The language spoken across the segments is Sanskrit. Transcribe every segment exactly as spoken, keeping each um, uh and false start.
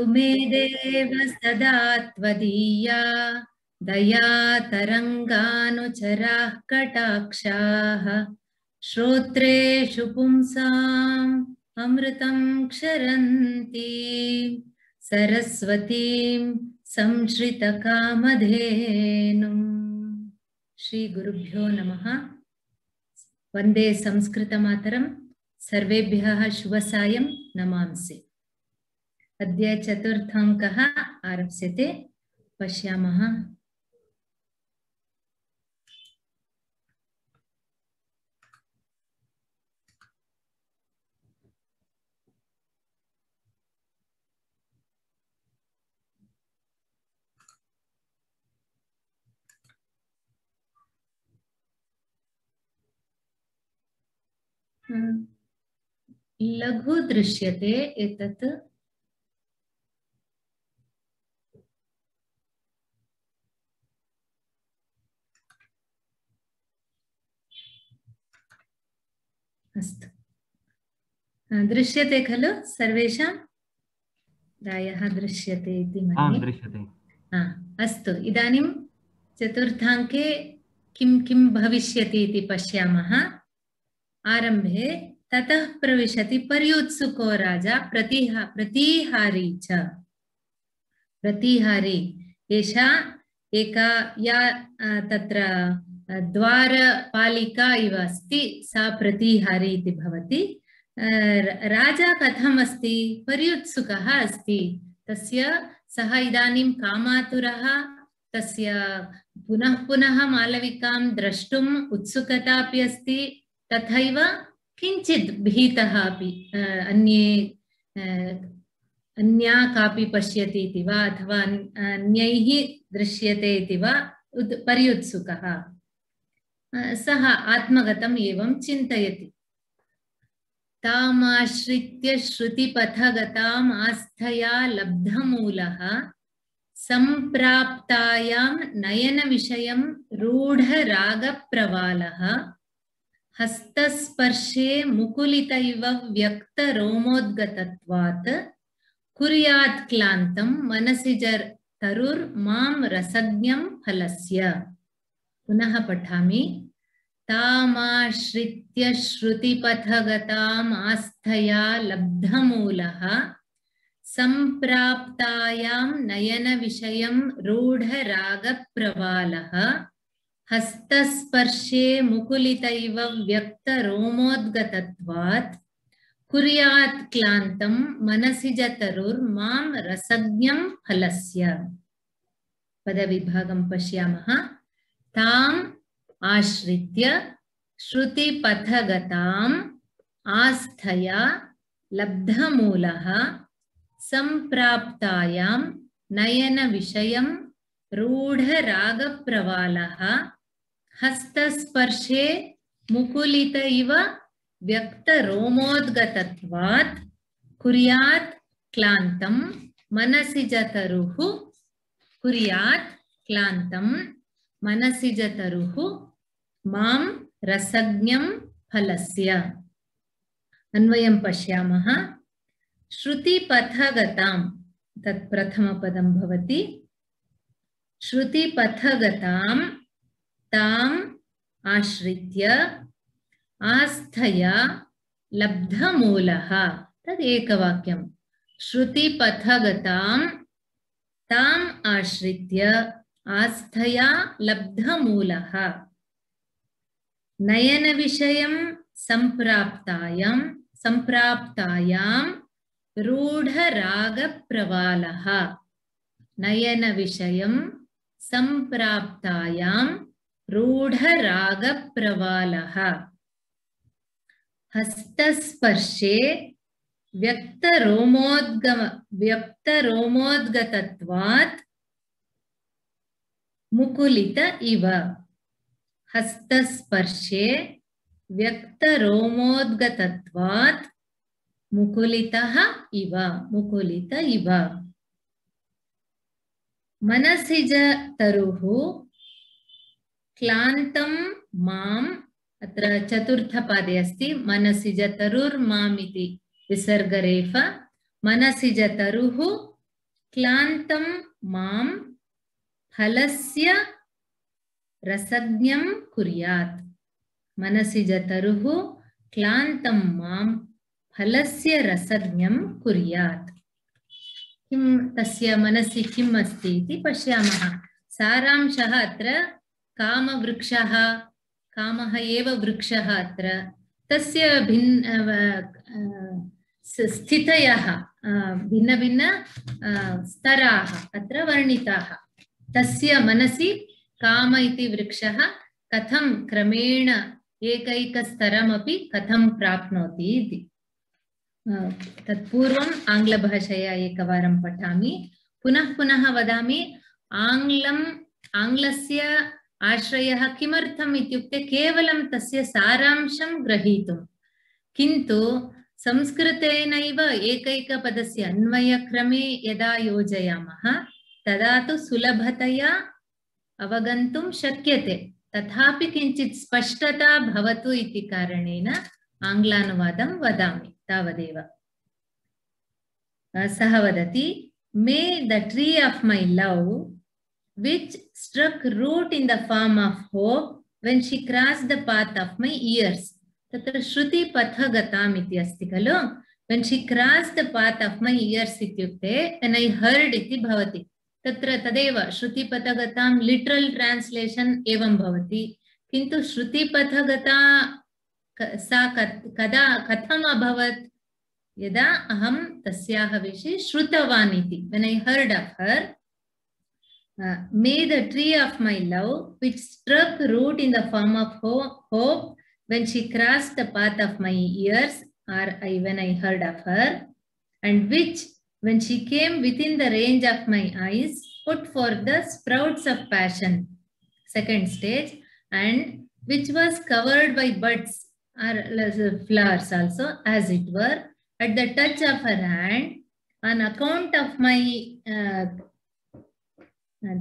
मे देव सदा त्वदीया दया तरङ्गानुचराः कटाक्षाः श्रोत्रेषु पुंसाम् अमृतं क्षरन्ति सरस्वतीं संश्रितकामधेनुम्। श्री गुरुभ्यो नमः। वन्दे संस्कृतमातरं। सर्वेभ्यः शुभसायं नमांसि। अद्य चतुर्थाङ्कः आरप्स्यते। पश्यामः। लघु दृश्यते एतत्। अस्तु, दृश्यते खलु सर्वेषां? प्रायः दृश्यते इति मन्ये। दृश्यते। अस्तु, इदानीं चतुर्थाङ्के किं किं भविष्यति इति पश्यामः। आरम्भे ततः प्रविशति पर्युत्सुको राजा प्रतिहा प्रतिहारी च। प्रतिहारी एषा एका या तत्र द्वारपालिका इव अस्ति, सा प्रतिहारी इति भवति। राजा कथम् अस्ति? पर्युत्सुकः अस्ति। तस्य सः इदानीं कामातुरः। तस्य पुनः पुनः मालविकां द्रष्टुम् उत्सुकता अपि अस्ति। तथैव किञ्चित् भीतः अपि। अन्ये अन्या कापि पश्यति इति वा अथवा अन्यैः दृश्यते इति वा पर्युत्सुकः। सः आत्मगतम् एवं चिन्तयति। तामाश्रित्य श्रुतिपथगताम् आस्थया लब्धमूलः सम्प्राप्तायां नयनविषयं रूढरागप्रवालः हस्तस्पर्शे मुकुलितैव व्यक्तरोमोद्गतत्वात् कुर्यात् क्लान्तं मनसि तरुर्मां रसज्ञं फलस्य। पुनः पठामि। तामाश्रित्य श्रुतिपथगताम् आस्थया लब्धमूलः सम्प्राप्तायां नयनविषयं रूढरागप्रवालः हस्तस्पर्शे मुकुलितैव व्यक्तरोमोद्गतत्वात् कुर्यात् क्लान्तं मनसि जतरुर्मां रसज्ञं फलस्य। पदविभागं पश्यामः। ताम् आश्रित्य श्रुतिपथगताम् आस्थया लब्धमूलः सम्प्राप्तायां नयनविषयं रूढरागप्रवालः हस्तस्पर्शे मुकुलित इव व्यक्तरोमोद्गतत्वात् कुर्यात् क्लान्तं मनसि जतरुः कुर्यात् क्लान्तं मनसि जतरुः मां रसज्ञं फलस्य। अन्वयं पश्यामः। श्रुतिपथगतां तत् प्रथमपदं भवति। श्रुतिपथगतां ताम् आश्रित्य आस्थया लब्धमूलः। तद् एकवाक्यं। श्रुतिपथगतां ताम् आश्रित्य आस्थया लब्धमूलः नयनविषयं सम्प्राप्तायां सम्प्राप्तायां रूढरागप्रवालः नयनविषयं सम्प्राप्तायां रूढरागप्रवालः हस्तस्पर्शे व्यक्तरोमोद्गम व्यक्तरोमोद्गतत्वात् मुकुलित इव। हस्तस्पर्शे व्यक्तरोमोद्गतत्वात् मुकुलितः इव मुकुलित इव। मनसि ज तरुः क्लान्तं माम्। अत्र चतुर्थपादे अस्ति मनसि ज तरुर्माम् इति विसर्गरेफ। मनसि ज तरुः क्लान्तं मां फलस्य रसज्ञं कुर्यात्। मनसि जतरुः क्लान्तं मां फलस्य रसज्ञं कुर्यात्। किं तस्य मनसि किम् अस्ति इति पश्यामः। सारांशः अत्र कामवृक्षः, कामः एव वृक्षः अत्र, तस्य भिन्न स्थितयः भिन्न भिन्न स्तराः अत्र वर्णिताः। तस्य मनसि काम इति वृक्षः कथं क्रमेण एकैकस्तरमपि कथं प्राप्नोति इति। तत्पूर्वम् आङ्ग्लभाषया एकवारं पठामि, पुनः पुनः वदामि। आङ्ग्लम् आङ्ग्लस्य आश्रयः किमर्थम् इत्युक्ते केवलं तस्य सारांशं ग्रहीतुं, किन्तु संस्कृतेनैव एकैकपदस्य अन्वयक्रमे यदा योजयामः तदा तु सुलभतया अवगन्तुं शक्यते। तथापि किञ्चित् स्पष्टता भवतु इति कारणेन आङ्ग्लानुवादं वदामि, तावदेव। सः वदति, मे the tree of May love which struck root in the form of hope when she crossed the path of my ears. तत्र श्रुति पथगताम् इति अस्ति खलु। when she crossed the path of my ears इत्युक्ते when I heard इति भवति। तत्र तदेव श्रुतिपथगतां लिटरल ट्रांसलेशन एवं भवति, किन्तु श्रुतिपथगता सा कदा कथम् अभवत्, यदा अहं तस्याः विषये श्रुतवान् इति। when I heard of her, uh, may the tree of my love which struck root in the form of hope when she crossed the path of my ears, or I, when I heard of her, and which when she came within the range of my eyes, put forth the sprouts of passion, second stage, and which was covered by buds or flowers also, as it were, at the touch of her hand, on account of my, uh,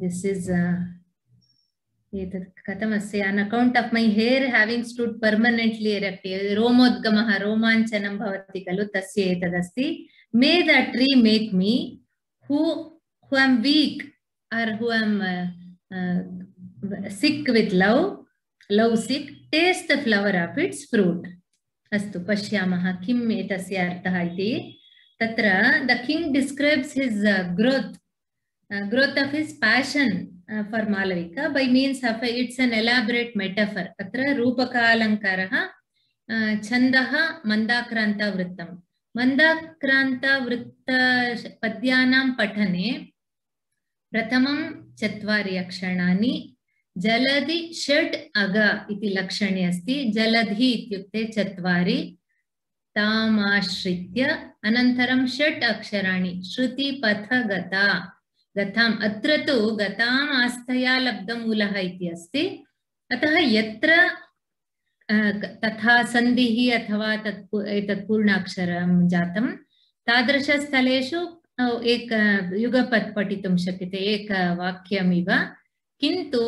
this is, uh, on account of my hair having stood permanently erected, romodgamaha, romanchanam bhavati kalu, tasya etadasti. May that tree make me, who, who am weak or who am uh, uh, sick with love, love sick, taste the flower of its fruit. Astu pashyamaha kim etasya artha iti. Tatra the king describes his uh, growth, uh, growth of his passion uh, for Malavika by means of a, it's an elaborate metaphor. Tatra rupaka alankaraha uh, chandaha mandakranta vrittam. Mandakranta vritta padyanam patane pratamam chatvari akshanaani jaladi षट् aga iti lakshani asti. Jaladhi ityukte chatvari तामाश्रित्य अनन्तरं षट् अक्षराणि श्रुति पथ गता गताम् अत्र तु गताम् आस्थया लब्धमूलः इति अस्ति। अतः यत्र तथा सन्धिः अथवा तत् एतत् पूर्णाक्षरं जातं तादृशस्थलेषु एक युगपत् पठितुं शक्यते, एक वाक्यमिव। किन्तु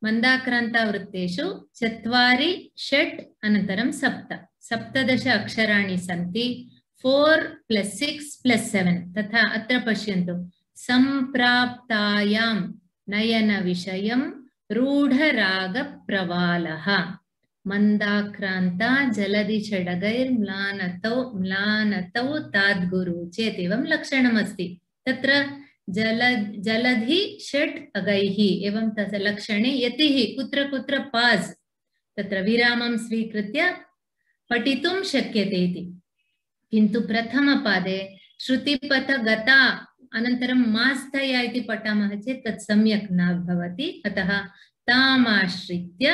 मन्दाक्रान्तवृत्तेषु चत्वारि षट् अनन्तरं सप्त सप्तदश अक्षराणि सन्ति। Four plus six plus seven तथा अत्र पश्यन्तु। सम्प्राप्तायां नयनविषयं रूढरागप्रवालः मन्दाक्रान्ता जलधि षडगैर्म्लानतौ म्लानतौ ताद्गुरु चेत् एवं लक्षणमस्ति। तत्र जल जलधि षट् अगैः एवं तस्य लक्षणे यतिः कुत्र कुत्र पास् तत्र विरामं स्वीकृत्य पठितुं शक्यते इति। किन्तु प्रथमपादे श्रुतिपथ गता अनन्तरं मास्थया इति पठामः चेत् तत् सम्यक् न भवति। अतः तामाश्रित्य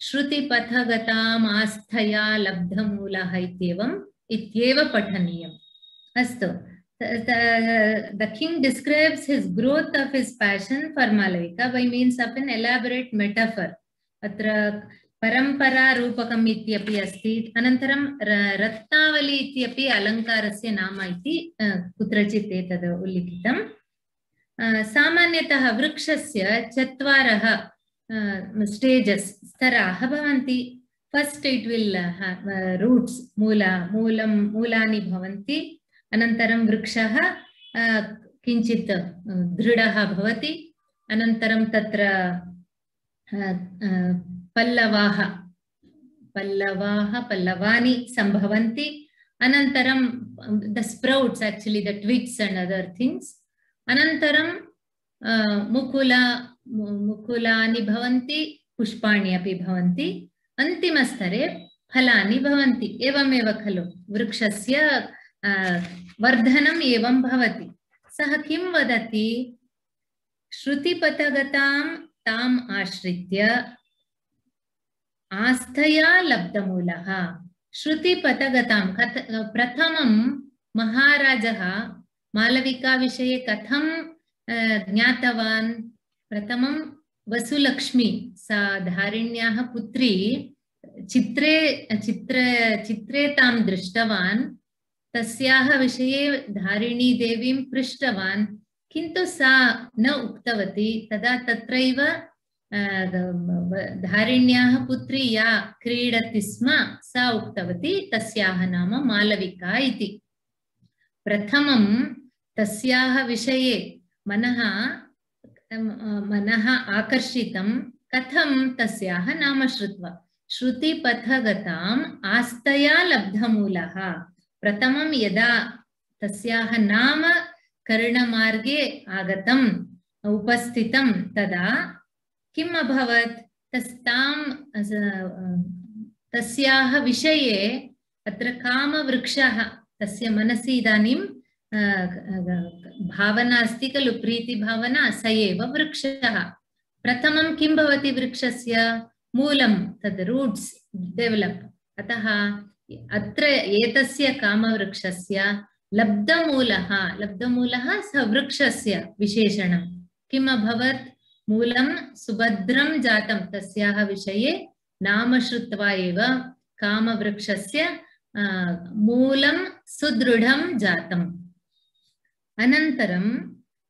श्रुतिपथ गताम् आस्थया लब्धमूलः इत्येवं इत्येव पठनीयम्। अस्तु, the king describes his growth of his passion for Malavika by means of an elaborate metaphor. अत्र परंपरा रूपकम् इत्यपि अस्ति। अनन्तरं रत्नावली इत्यपि अलङ्कारस्य नाम इति कुत्रचित् एतद् उल्लिखितम्। सामान्यतः वृक्षस्य चत्वारः स्टेजेस् स्तराः भवन्ति। फर्स्ट इट विल रूट्स मूला मूलं मूलानि भवन्ति। अनन्तरं वृक्षः किञ्चित् दृढः भवति अनन्तरं तत्र पल्लवाः पल्लवाः पल्लवानि सम्भवन्ति अनन्तरं the sprouts actually the twigs and other things अनन्तरं मुकुला मुकुलानि भवन्ति पुष्पाणि अपि भवन्ति अन्तिमस्तरे फलानि भवन्ति एवमेव खलु वृक्षस्य वर्धनम् एवं भवति सः किं वदति श्रुतिपथगतां ताम् आश्रित्य आस्थया लब्धमूलः श्रुतिपथगतां प्रथमं महाराजः मालविका विषये कथं ज्ञातवान् प्रथमं वसुलक्ष्मी सा धारिण्याः पुत्री चित्रे चित्र चित्रे तां दृष्टवान् तस्याः विषये धारिणी देवीं पृष्टवान् किन्तु सा न उक्तवती तदा तत्रैव धारिण्याः पुत्री या क्रीडति स्म सा उक्तवती तस्याः नाम मालविका इति प्रथमं तस्याः विषये मनः मनः आकर्षितं कथं तस्याः नाम श्रुत्वा श्रुतिपथगताम् आस्थया लब्धमूलः प्रथमं यदा तस्याः नाम कर्णमार्गे आगतम् उपस्थितं तदा किम् अभवत् तस्तां तस्याः विषये अत्र कामवृक्षः तस्य मनसि इदानीं भावना अस्ति खलु प्रीतिभावना स एव वृक्षः प्रथमं किं भवति वृक्षस्य मूलं तद् रूट्स् डेवलप् अतः अत्र एतस्य कामवृक्षस्य लब्धमूलः लब्धमूलः स वृक्षस्य विशेषणं किम् अभवत् मूलं सुभद्रं जातं तस्याः विषये नाम श्रुत्वा एव कामवृक्षस्य मूलं सुदृढं जातम् अनन्तरं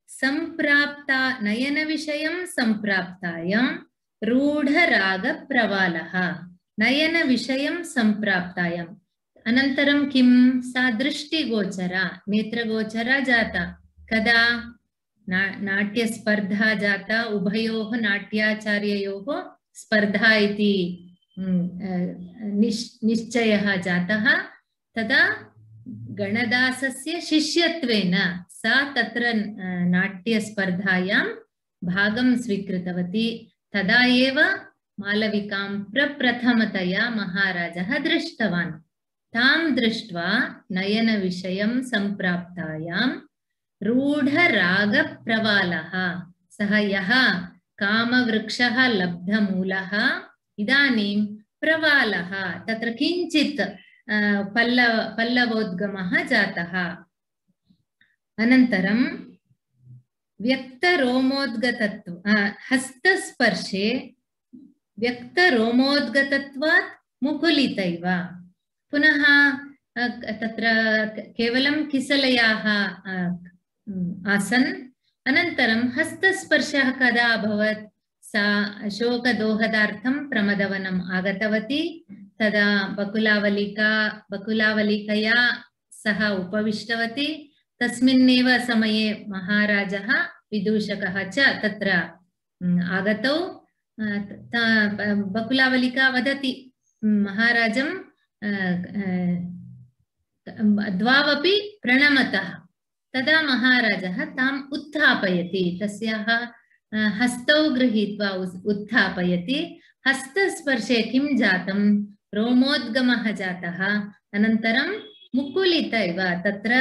सम्प्राप्ता नयनविषयं सम्प्राप्तायां रूढरागप्रवालः नयनविषयं सम्प्राप्तायाम् अनन्तरं किं सा दृष्टिगोचरा नेत्रगोचरा जाता कदा ना नाट्यस्पर्धा जाता उभयोः नाट्याचार्ययोः स्पर्धा इति निश् निश्चयः जातः तदा गणदासस्य शिष्यत्वेन सा तत्र नाट्यस्पर्धायां भागं स्वीकृतवती तदा एव मालविकां प्रप्रथमतया महाराजः दृष्टवान् तां दृष्ट्वा नयनविषयं सम्प्राप्तायां रूढरागप्रवालः सः यः कामवृक्षः लब्धमूलः इदानीं प्रवालः तत्र किञ्चित् पल्लव पल्लवोद्गमः जातः अनन्तरं व्यक्तरोमोद्गतत्व हस्तस्पर्शे व्यक्तरोमोद्गतत्वात् मुकुलितैव पुनः तत्र केवलं किसलयाः आसन् अनन्तरं हस्तस्पर्शः कदा अभवत् सा अशोकदोहदार्थं प्रमदवनम् आगतवती तदा बकुलावलिका बकुलावलिकया सह उपविष्टवती तस्मिन्नेव समये महाराजः विदूषकः च तत्र आगतौ बकुलावलिका वदति महाराजं द्वावपि प्रणमतः तदा महाराजः ताम् उत्थापयति तस्याः हस्तौ गृहीत्वा उत्थापयति हस्तस्पर्शे किं जातं रोमोद्गमः जातः अनन्तरं मुकुलित इव तत्र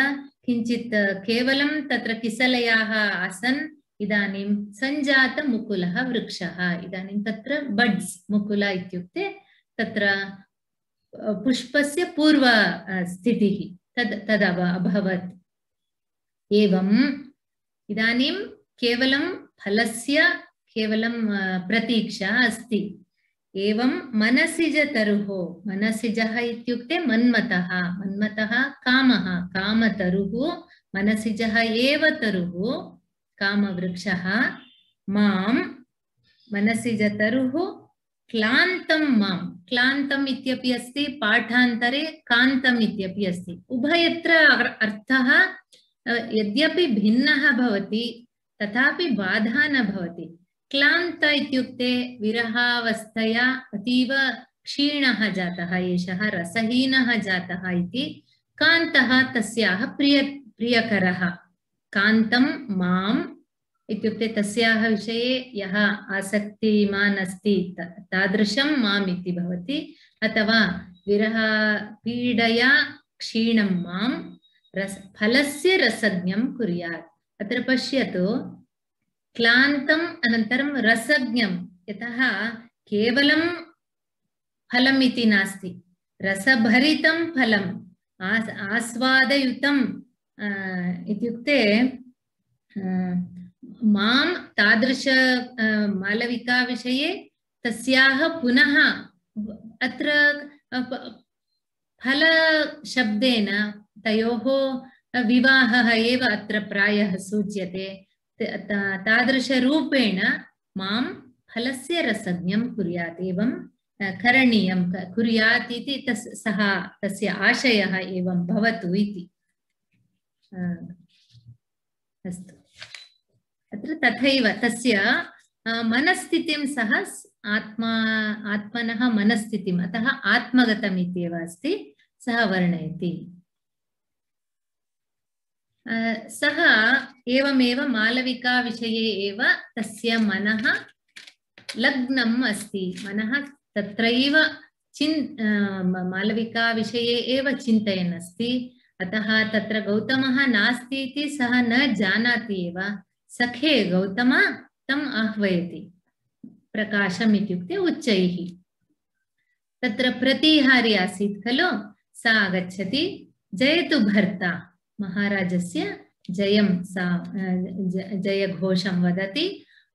किञ्चित् केवलं तत्र किसलयाः आसन् इदानीं सञ्जात मुकुलः वृक्षः इदानीं तत्र बड्स् मुकुल इत्युक्ते तत्र पुष्पस्य पूर्व स्थितिः तद् तद् अभवत् एवं इदानीं केवलं फलस्य केवलं प्रतीक्षा अस्ति एवं मनसिजतरुः मनसिजः इत्युक्ते मन्मथः मन्मथः कामः कामतरुः मनसिजः एव तरुः कामवृक्षः मां मनसिजतरुः क्लान्तं मां क्लान्तम् इत्यपि अस्ति पाठान्तरे कान्तम् इत्यपि अस्ति उभयत्र अर्थः यद्यपि भिन्नः भवति तथापि बाधा न भवति। क्लान्त इत्युक्ते विरहावस्थया अतीव क्षीणः जातः, एषः रसहीनः जातः इति। कान्तः तस्याः प्रिय प्रियकरः। कान्तं माम् इत्युक्ते तस्याः विषये यः आसक्तिमान् अस्ति तादृशं माम् इति भवति। अथवा विरह पीडया क्षीणं मां रस फलस्य रसज्ञं कुर्यात्। अत्र पश्यतु, क्लान्तम् अनन्तरं रसज्ञं, यतः केवलं फलम् इति नास्ति, रसभरितं फलम्, आस् आस्वादयुतं इत्युक्ते मां तादृश मालविका विषये तस्याः पुनः अत्र फल शब्देन तयोः विवाहः एव अत्र प्रायः सूच्यते। तादृशरूपेण मां फलस्य रसज्ञं कुर्यात्, एवं करणीयं कुर्यात् इति तस् सः तस्य आशयः एवं भवतु इति। अस्तु, अत्र तथैव तस्य मनस्थितिं सः आत्मा आत्मनः मनस्थितिम्, अतः आत्मगतम् इत्येव अस्ति, सः वर्णयति। सः एवमेव मालविका विषये एव तस्य मनः लग्नम् अस्ति, मनः तत्रैव चिन् मालविका विषये एव चिन्तयन् अस्ति। अतः तत्र गौतमः नास्ति इति सः न जानाति एव। सखे गौतम तम् आह्वयति, प्रकाशम् इत्युक्ते उच्चैः। तत्र प्रतिहारी आसीत् खलु, सा आगच्छति, जयतु भर्ता, महाराजस्य जयं सा जयघोषं वदति।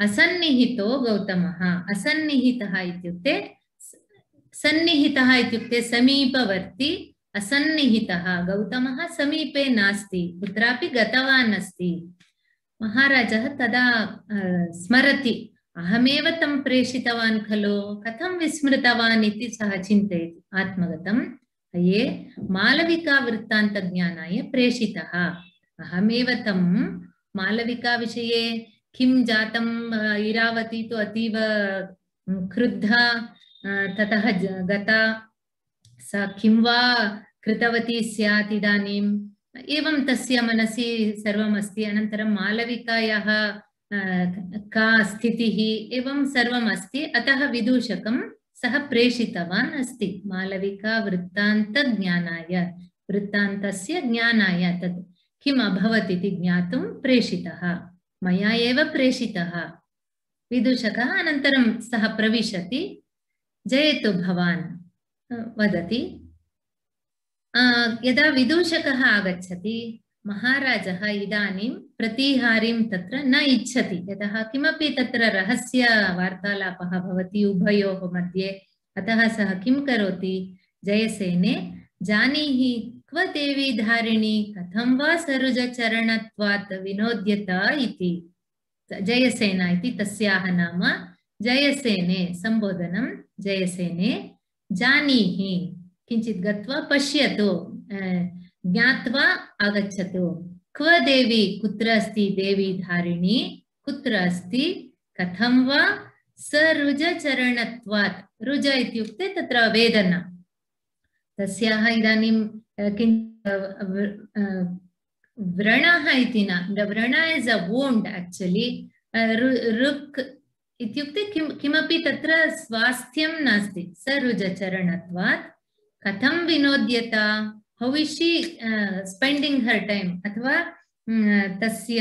असन्निहितो गौतमः, असन्निहितः इत्युक्ते सन्निहितः इत्युक्ते समीपवर्ती, असन्निहितः गौतमः समीपे नास्ति, कुत्रापि गतवान् अस्ति। महाराजः तदा स्मरति, अहमेव तं प्रेषितवान् खलु, कथं विस्मृतवान् इति सः चिन्तयति आत्मगतं। ये मालविका वृत्तान्तज्ञानाय प्रेषितः, अहमेव तं मालविका विषये किं जातं, इरावती तु अतीव क्रुद्धा ततः गता, सा किं वा कृतवती स्यात् इदानीम्, एवं तस्य मनसि सर्वम् अस्ति। अनन्तरं मालविकायाः का स्थितिः, एवं सर्वम् अस्ति। अतः विदूषकं सः प्रेषितवान् अस्ति मालविका वृत्तान्तज्ञानाय, वृत्तान्तस्य ज्ञानाय, तत् किम् अभवत् इति ज्ञातुं प्रेषितः, मया एव प्रेषितः विदूषकः। अनन्तरं सः प्रविशति, जयतु भवान् वदति। यदा विदूषकः आगच्छति, महाराजः इदानीं प्रतिहारीं तत्र न इच्छति, यतः किमपि तत्र रहस्य वार्तालापः भवति उभयोः मध्ये। अतः सः किं करोति, जयसेने जानीहि क्व देवी धारिणी, कथं वा सरुजचरणत्वात् विनोद्यता इति। जयसेना इति तस्याः नाम। जयसेने संबोधनं, जयसेने जानीहि, किञ्चित् गत्वा पश्यतु, ज्ञात्वा आगच्छतु। क्व देवी, कुत्र अस्ति देवी धारिणी, कुत्र अस्ति, कथं वा सरुजचरणत्वात्, रुज इत्युक्ते तत्र वेदना, तस्याः इदानीं व्रणः इति न, व्रण इस् अ वोण्ड् एक्चुअली, रुक् इत्युक्ते किं किमपि तत्र स्वास्थ्यं नास्ति। सरुजचरणत्वात् कथं विनोद्यता, how is she uh, spending her time, अथवा तस्य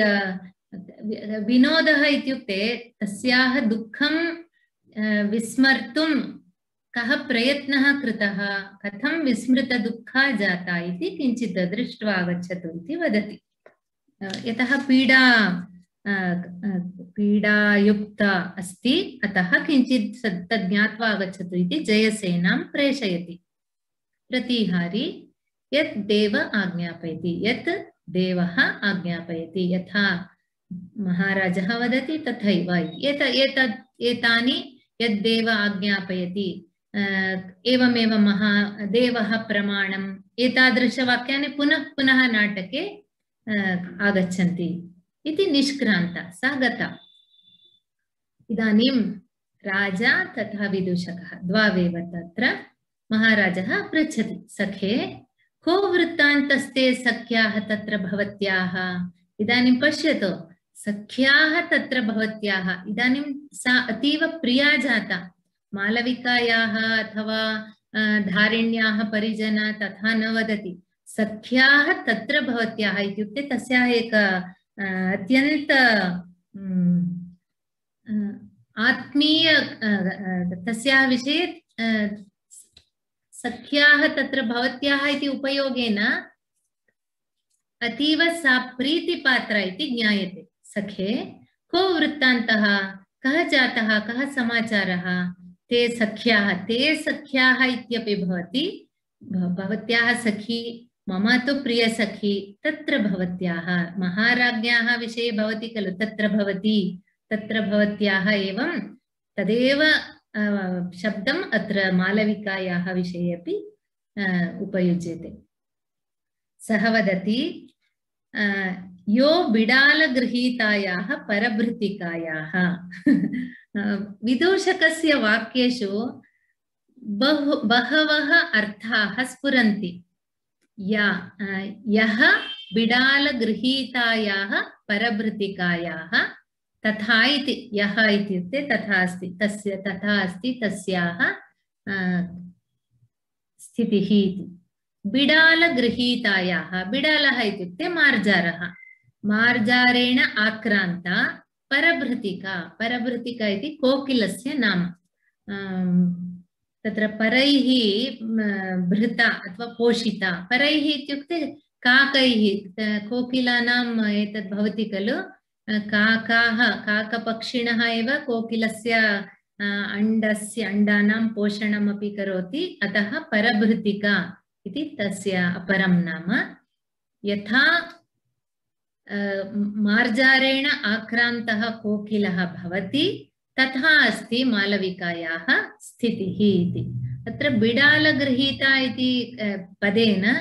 विनोदः इत्युक्ते तस्याः दुःखं विस्मर्तुं कः प्रयत्नः कृतः, कथं विस्मृतदुःखा जाता इति किञ्चित् दृष्ट्वा आगच्छतु इति वदति। यतः पीडा पीडायुक्ता अस्ति, अतः किञ्चित् तद् ज्ञात्वा आगच्छतु इति जयसेनां प्रेषयति। प्रतिहारी यत् देव आज्ञापयति, यत् देवः आज्ञापयति, यथा महाराजः वदति तथैव। एत एतत् एतानि यद्देव आज्ञापयति, एवमेव महादेवः प्रमाणम्, एतादृशवाक्यानि पुनः पुनः नाटके आगच्छन्ति इति निष्क्रान्ता सा गता। इदानीं राजा तथा विदूषकः द्वावेव तत्र महाराजः पृच्छति, सखे को वृत्तान्तस्ते सख्याः तत्र भवत्याः? इदानीं पश्यतु, सख्याः तत्र भवत्याः, इदानीं सा अतीव प्रिया जाता। मालविकायाः अथवा धारिण्याः परिजना तथा न वदति, सख्याः तत्र भवत्याः इत्युक्ते तस्याः एक अत्यन्त आत्मीय तस्याः विषये सख्याः तत्र भवत्याः इति उपयोगेन अतीव सा प्रीतिपात्रा इति ज्ञायते। सखे को वृत्तान्तः, कः जातः, कः समाचारः? ते सख्याः, ते सख्याः इत्यपि भवति, भवत्याः सखी, मम तु प्रियसखी, तत्र भवत्याः, महाराज्ञ्याः विषये भवति खलु, तत्र भवति, तत्र भवत्याः, एवं तदेव शब्दम् अत्र मालविकायाः विषये अपि उपयुज्यते। सः वदति, यो बिडालगृहीतायाः परभृतिकायाः। विदूषकस्य वाक्येषु बहु बहवः अर्थाः स्फुरन्ति। या यः बिडालगृहीतायाः परभृतिकायाः, तथा इति, यः इत्युक्ते तथा अस्ति, तस्य तथा अस्ति तस्याः स्थितिः इति। बिडालगृहीतायाः, बिडालः इत्युक्ते मार्जारः, मार्जारेण आक्रान्ता परभृतिका, परभृतिका इति कोकिलस्य नाम। तत्र परैः भृता अथवा पोषिता, परैः इत्युक्ते काकैः, कोकिलानाम् एतद् भवति खलु, काकाः, काकपक्षिणः एव कोकिलस्य अण्डस्य अण्डानां पोषणमपि करोति, अतः परभृतिका इति तस्य अपरं नाम। यथा मार्जारेण आक्रान्तः कोकिलः भवति, तथा अस्ति मालविकायाः स्थितिः इति। अत्र बिडालगृहीता इति पदेन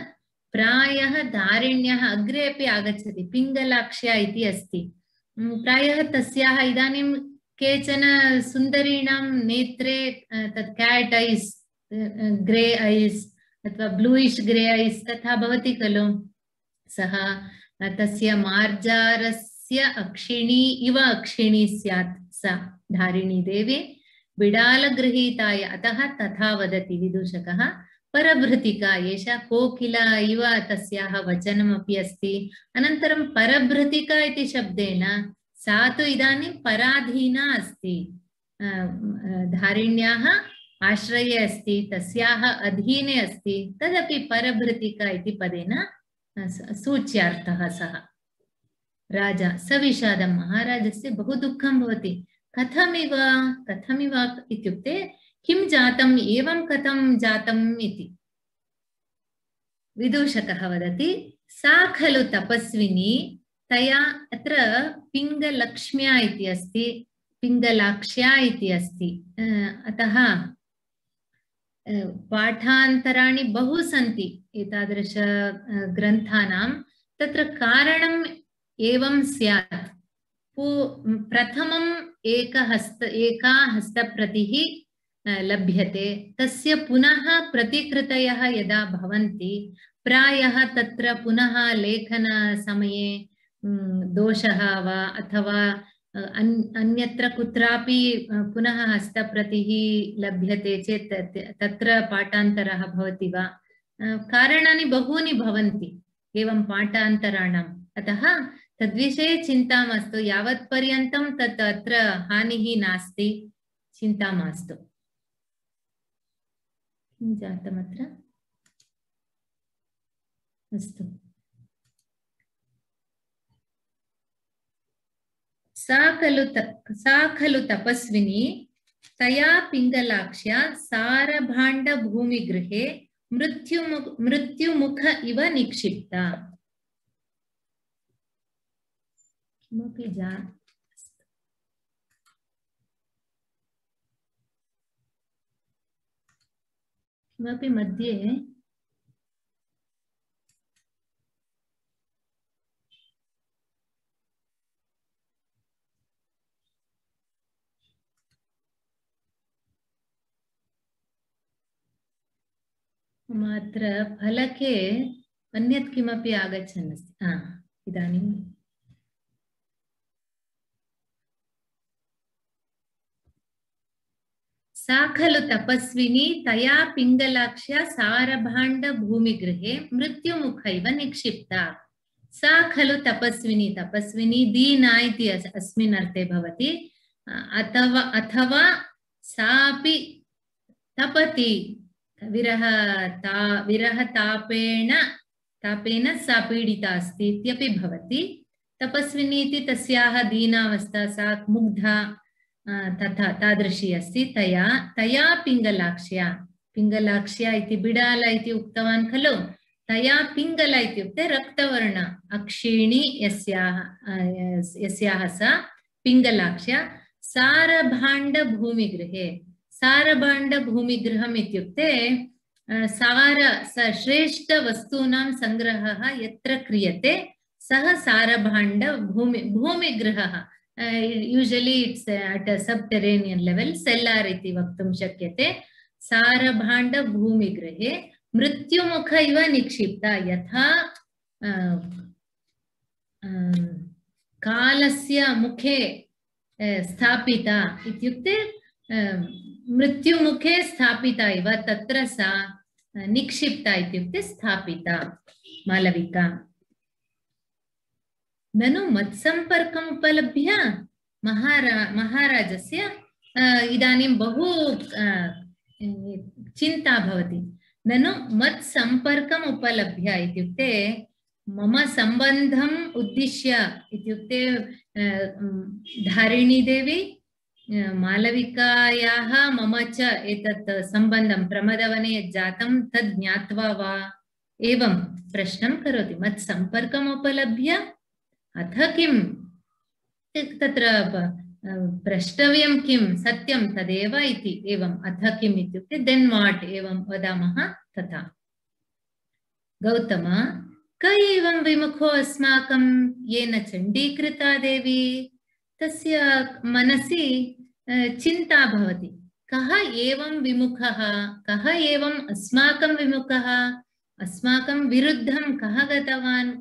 प्रायः धारिण्यः अग्रे अपि आगच्छति, पिङ्गलाक्ष्या इति अस्ति। प्रायः तस्याः इदानीं केचन सुन्दरीणां नेत्रे तत् कैट ऐस्, ग्रे ऐस् अथवा ब्लूइश् ग्रे ऐस् तथा भवति खलु, सः तस्य मार्जारस्य अक्षिणी इव अक्षिणी स्यात् सा धारिणी देवी, बिडालगृहीताय, अतः तथा वदति विदूषकः। परभृतिका, एषा कोकिला इव तस्याः वचनमपि अस्ति। अनन्तरं परभृतिका इति शब्देन सा तु इदानीं पराधीना अस्ति, धारिण्याः आश्रये अस्ति, तस्याः अधीने अस्ति, तदपि परभृतिका इति पदेन सूच्यार्थः सः। राजा सविषादं, महाराजस्य बहु दुःखं भवति। कथमिव कथमिव इत्युक्ते किं जातम्, एवं कथं जातम् इति। विदूषकः वदति, सा खलु तपस्विनी, तया अत्र पिङ्गलक्ष्म्या इति अस्ति, पिङ्गलाक्ष्या इति अस्ति। अतः पाठान्तराणि बहु सन्ति एतादृश ग्रन्थानां। तत्र कारणम् एवं स्यात्, प्रथमम् एकहस्त एका हस्तप्रतिः लभ्यते, तस्य पुनः प्रतिकृतयः यदा भवन्ति, प्रायः तत्र पुनः लेखनसमये दोषः वा अथवा अन्यत्र कुत्रापि पुनः हस्तप्रतिः लभ्यते चेत् तत्र पाठान्तरः भवति वा, कारणानि बहूनि भवन्ति एवं पाठान्तराणाम्। अतः तद्विषये चिन्ता मास्तु, यावत्पर्यन्तं तत् अत्र हानिः नास्ति, चिन्ता मास्तु। किं जातमत्र? अस्तु, सा खलु सा खलु तपस्विनी, तया पिङ्गलाक्ष्या सारभाण्डभूमिगृहे मृत्युमुख मृत्युमुख इव निक्षिप्ता। किमपि जा किमपि मध्ये मात्र फलके अन्यत् किमपि आगच्छन् अस्ति। हा इदानीं सा खलु तपस्विनी तया पिङ्गलाक्ष्या सारभाण्ड भूमिगृहे मृत्युमुखैव निक्षिप्ता। सा खलु तपस्विनी तपस्विनी दीना इति अस्मिन् अर्थे भवति। अथवा अथवा सापि तपति विरह ता विरह तापेन तापेन सा पीडिता अस्ति इत्यपि भवति। तपस्विनी इति तस्याः दीनावस्था, सा मुग्धा तथा तादृशी अस्ति। तया तया पिङ्गलाक्ष्या पिङ्गलाक्ष्या इति बिडाल इति उक्तवान् खलु। तया पिङ्गला इत्युक्ते रक्तवर्ण अक्षिणी यस्याः यस्याः सा पिङ्गलाक्ष्या सारभाण्ड भूमिगृहे। सारभाण्ड भूमिगृहम् इत्युक्ते सार श्रेष्ठ वस्तूनां संग्रहः यत्र क्रियते सः सारभाण्ड भूमि भूमिगृहः। Usually it's at a subterranean level cellar इति वक्तुं शक्यते। सारभाण्ड भूमिगृहे मृत्युमुख इव निक्षिप्ता। यथा कालस्य मुखे स्थापिता इत्युक्ते मृत्युमुखे स्थापिता इव तत्र सा निक्षिप्ता इत्युक्ते स्थापिता मालविका। ननु मत्संपर्कम् उपलभ्य महारा महाराजस्य इदानीं बहु चिन्ता भवति। ननु मत्संपर्कम् उपलभ्य इत्युक्ते मम सम्बन्धम् उद्दिश्य इत्युक्ते धारिणी देवी मालविकायाः मम च एतत् सम्बन्धं प्रमदवने जातं तद् ज्ञात्वा वा एवं प्रश्नं करोति। मत्संपर्कम् उपलभ्य अथ किं तत्र प्रष्टव्यं किं सत्यं तदेव इति। एवम् अथ किम् इत्युक्ते देन् वाट् एवं वदामः तथा। गौतम क एवं विमुखो अस्माकं येन चण्डीकृता देवी। तस्य मनसि चिन्ता भवति। कः एवं विमुखः, कः एवं अस्माकं विमुखः, अस्माकं विरुद्धं कः गतवान्,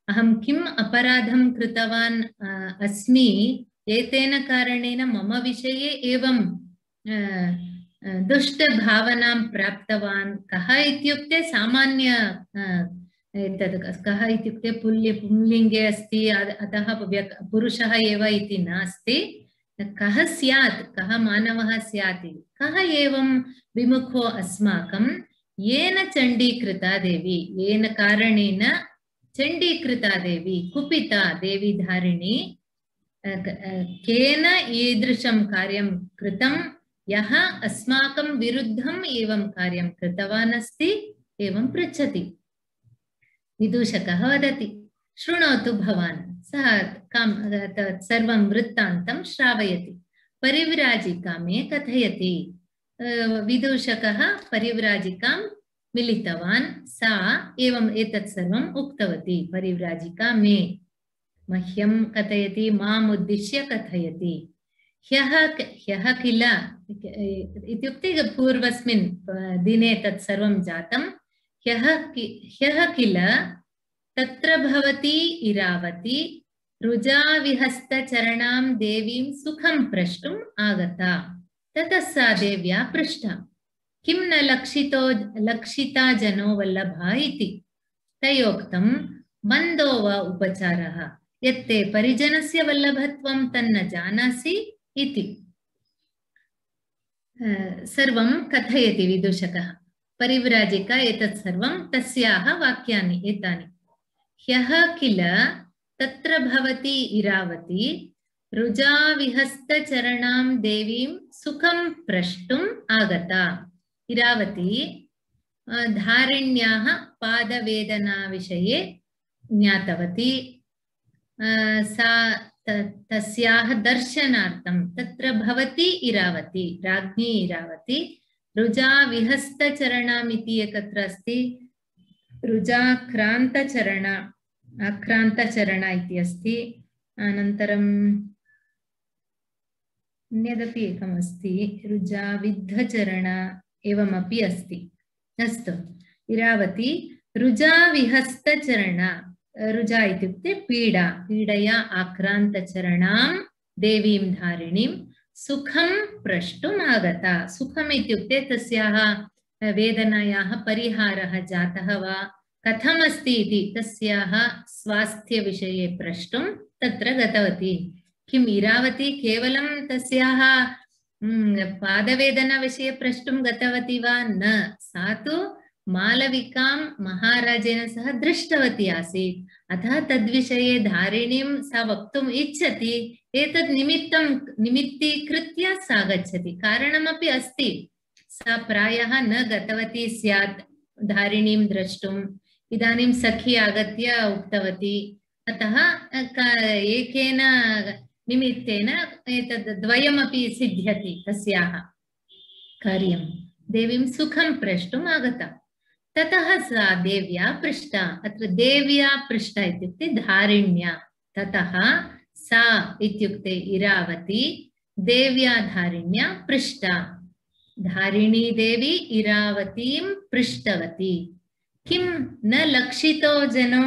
अहं किम् अपराधं कृतवान् अस्मि एतेन कारणेन मम विषये एवं दुष्टभावनां प्राप्तवान्। कः इत्युक्ते सामान्य एतद् कः इत्युक्ते पुल्य पुंलिङ्गे अस्ति, अतः पुरुषः एव इति नास्ति। कः स्यात्, कः मानवः स्यात्, कः एवं विमुखो अस्माकं येन चण्डीकृता देवी, येन कारणेन चण्डीकृता देवी कुपिता देवी धारिणी। केन ईदृशं कार्यं कृतं, यः अस्माकं विरुद्धम् एवं कार्यं कृतवान् अस्ति एवं पृच्छति। विदूषकः वदति शृणोतु भवान्। सः सर्वं वृत्तान्तं श्रावयति। परिव्राजिका मे कथयति। विदूषकः परिव्राजिकां मिलितवान्। सा एवम् एतत् सर्वम् उक्तवती। परिव्राजिका मे मह्यं कथयति, माम् उद्दिश्य कथयति। ह्यः ह्यः किल इत्युक्ते पूर्वस्मिन् दिने तत् सर्वं जातं। ह्यः ह्यः किल तत्र भवती इरावती रुजाविहस्तचरणां देवीं सुखं प्रष्टुम् आगता। ततः सा देव्या पृष्टा, किं न लक्षितो लक्षिता जनो वल्लभा इति। तयोक्तं मन्दो वा उपचारः, यत्ते परिजनस्य वल्लभत्वं तन्न जानासि इति। सर्वं कथयति विदूषकः। परिव्राजिका एतत् सर्वं तस्याः वाक्यानि एतानि। ह्यः किल तत्र भवती इरावती रुजाविहस्तचरणां देवीं सुखं प्रष्टुम् आगता। इरावती धारिण्याः पादवेदना विषये ज्ञातवती। सा तस्याः दर्शनार्थं तत्र भवती इरावती, राज्ञी इरावती रुजाविहस्तचरणाम् इति एकत्र अस्ति। रुजाक्रान्तचरण आक्रान्तचरण इति अस्ति। अनन्तरम् अन्यदपि एकम् अस्ति, रुजाविद्धचरण एवमपि अस्ति। अस्तु, इरावती रुजा विहस्तचरणा रुजा इत्युक्ते पीडा पीडया आक्रान्तचरणां देवीं धारिणीं सुखं प्रष्टुम् आगता सुखम् इत्युक्ते तस्याः वेदनायाः परिहारः जातः वा कथमस्ति इति तस्याः स्वास्थ्यविषये प्रष्टुं तत्र गतवती किम् इरावती केवलं तस्याः पादवेदनाविषये प्रष्टुं गतवती वा न सा तु मालविकां महाराजेन सह दृष्टवती आसीत् अतः तद्विषये धारिणीं सा वक्तुम् इच्छति एतद् निमित्तं निमित्तीकृत्य सा गच्छति कारणमपि अस्ति सा प्रायः न गतवती स्यात् धारिणीं द्रष्टुम् इदानीं सखी आगत्य उक्तवती अतः एकेन निमित्तेन एतद् द्वयमपि सिद्ध्यति तस्याः कार्यं देवीं सुखं प्रष्टुम् आगता ततः सा देव्या पृष्टा अत्र देव्या पृष्टा इत्युक्ते धारिण्या ततः सा इत्युक्ते इरावती देव्या धारिण्या पृष्टा धारिणी देवी इरावतीं पृष्टवती किं न लक्षितो जनो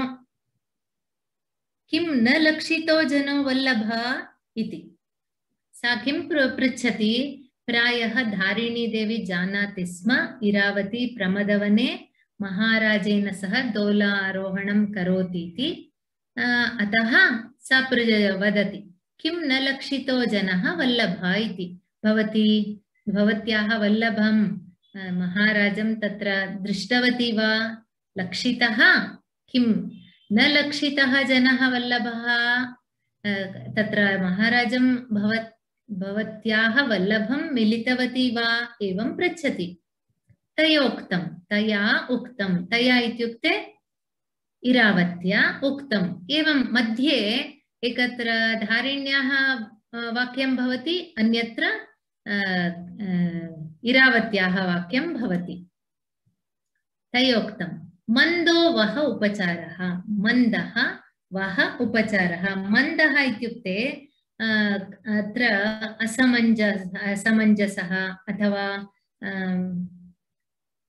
किं न लक्षितो जनो वल्लभा इति सा किं पृच्छति प्रायः धारिणी देवी जानाति स्म इरावती प्रमदवने महाराजेन सह दोलारोहणं करोति इति अतः सा वदति किं न लक्षितो जनः वल्लभा इति भवती भवत्याः वल्लभं महाराजं तत्र दृष्टवती वा लक्षितः किं न लक्षितः जनः वल्लभः तत्र महाराजं भवत् भवत्याः वल्लभं मिलितवती वा एवं पृच्छति तयोक्तं तया उक्तं तया इत्युक्ते इरावत्या उक्तम् एवं मध्ये एकत्र धारिण्याः वाक्यं भवति अन्यत्र इरावत्याः वाक्यं भवति तयोक्तं मन्दो वह उपचारः मन्दः वह उपचारः मन्दः इत्युक्ते अत्र असमञ्जस असमञ्जसः अथवा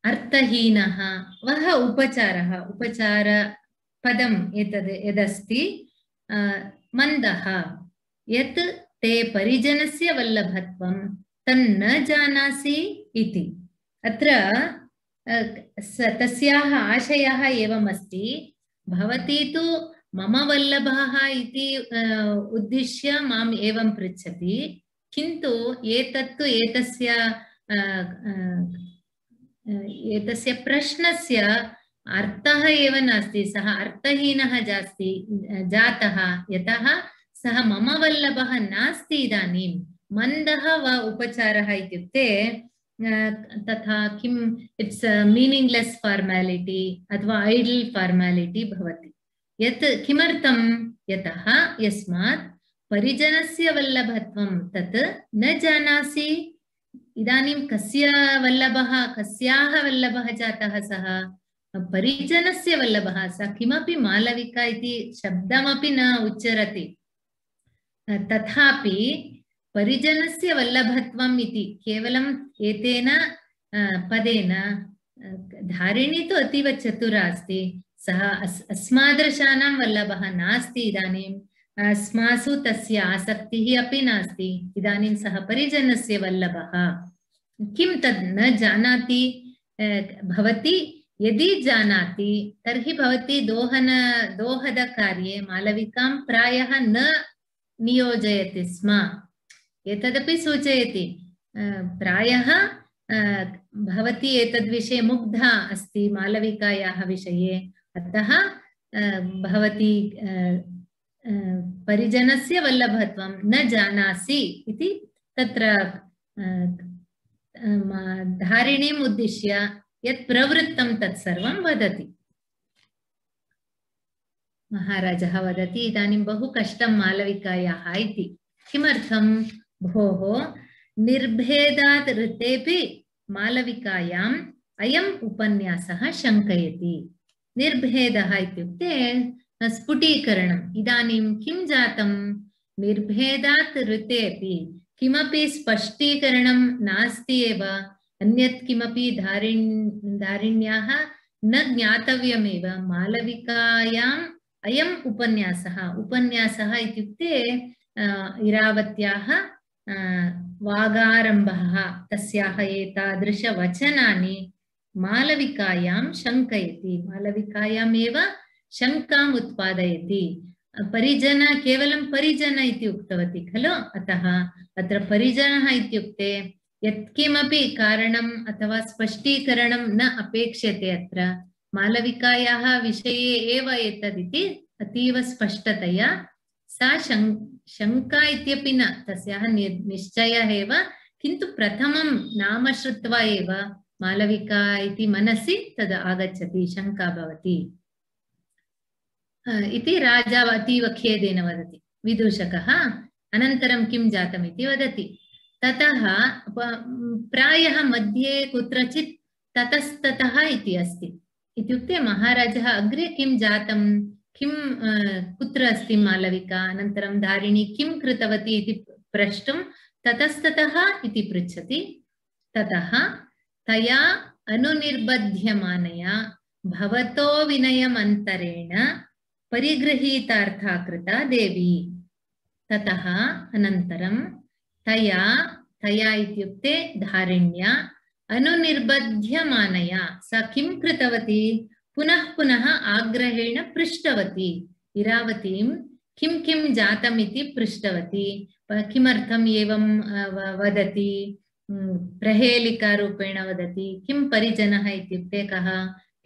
अर्थहीनः वह उपचारः उपचार पदम् एतद् यदस्ति मन्दः यत् ते परिजनस्य वल्लभत्वं तन्न जानासि इति अत्र तस्याः आशयः एवमस्ति भवती तु मम वल्लभः इति उद्दिश्य माम् एवं पृच्छति किन्तु एतत्तु एतस्य एतस्य प्रश्नस्य अर्थः एव नास्ति सः अर्थहीनः जास्ति जातः यतः सः मम वल्लभः नास्ति इदानीं मन्दः वा उपचारः इत्युक्ते तथा किम् इट्स् मीनिङ्ग्लेस् फार्मालिटी अथवा ऐडल् फार्मालिटी भवति यत् किमर्थं यतः यस्मात् परिजनस्य वल्लभत्वं तत् न जानासि इदानीं कस्य वल्लभः कस्याः वल्लभः जातः सः परिजनस्य वल्लभः सः किमपि मालविका इति शब्दमपि न उच्चरति तथापि परिजनस्य वल्लभत्वम् इति केवलम् एतेन पदेन धारिणी तु अतीव चतुरा अस्ति सः अस् अस्मादृशानां वल्लभः नास्ति इदानीम् अस्मासु तस्य आसक्तिः अपि नास्ति इदानीं सः परिजनस्य वल्लभः किं तद् न जानाति भवती यदि जानाति तर्हि भवती दोहन दोहदकार्ये मालविकां प्रायः न नियोजयति स्म एतदपि सूचयति प्रायः भवती एतद्विषये मुग्धा अस्ति मालविकायाः विषये अतः भवती परिजनस्य वल्लभत्वं न जानासि इति तत्र धारिणीम् उद्दिश्य यत् प्रवृत्तं तत्सर्वं वदति महाराजः वदति इदानीं बहु कष्टं मालविकायाः इति किमर्थं भोः निर्भेदात् ऋतेपि मालविकायाम् अयम् उपन्यासः शङ्कयति निर्भेदः इत्युक्ते स्फुटीकरणम् इदानीं किं जातं निर्भेदात् ऋतेपि किमपि स्पष्टीकरणं नास्ति एव अन्यत् किमपि धारिण् धारिण्याः न ज्ञातव्यमेव मालविकायाम् अयम् उपन्यासः उपन्यासः इत्युक्ते इरावत्याः वागारम्भः तस्याः एतादृशवचनानि मालविकायां शङ्कयति मालविकायामेव शङ्काम् उत्पादयति परिजन केवलं परिजन इति उक्तवती खलु अतः अत्र परिजनः इत्युक्ते यत्किमपि कारणम् अथवा स्पष्टीकरणं न अपेक्ष्यते अत्र मालविकायाः विषये एव एतदिति अतीव स्पष्टतया सा शङ्का इत्यपि न तस्याः निश्चयः एव किन्तु प्रथमं नाम श्रुत्वा एव मालविका इति मनसि तद् आगच्छति शङ्का भवति इति राजा अतीव खेदेन वदति विदूषकः अनन्तरं किं जातम् इति वदति ततः प्रायः मध्ये कुत्रचित् ततस्ततः इति अस्ति इत्युक्ते महाराजः अग्रे किं जातं किं कुत्र अस्ति मालविका अनन्तरं धारिणी किं कृतवती इति प्रष्टुं ततस्ततः इति पृच्छति ततः तया अनुनिर्बध्यमानया भवतो विनयमन्तरेण परिगृहीतार्था कृता देवी ततः अनन्तरं तया तया इत्युक्ते धारिण्या अनुनिर्बध्यमानया सा किं कृतवती पुनः पुनः आग्रहेण पृष्टवती इरावतीं किं किं जातम् इति पृष्टवती किमर्थम् एवं वदति प्रहेलिकारूपेण वदति किं परिजनः इत्युक्ते कः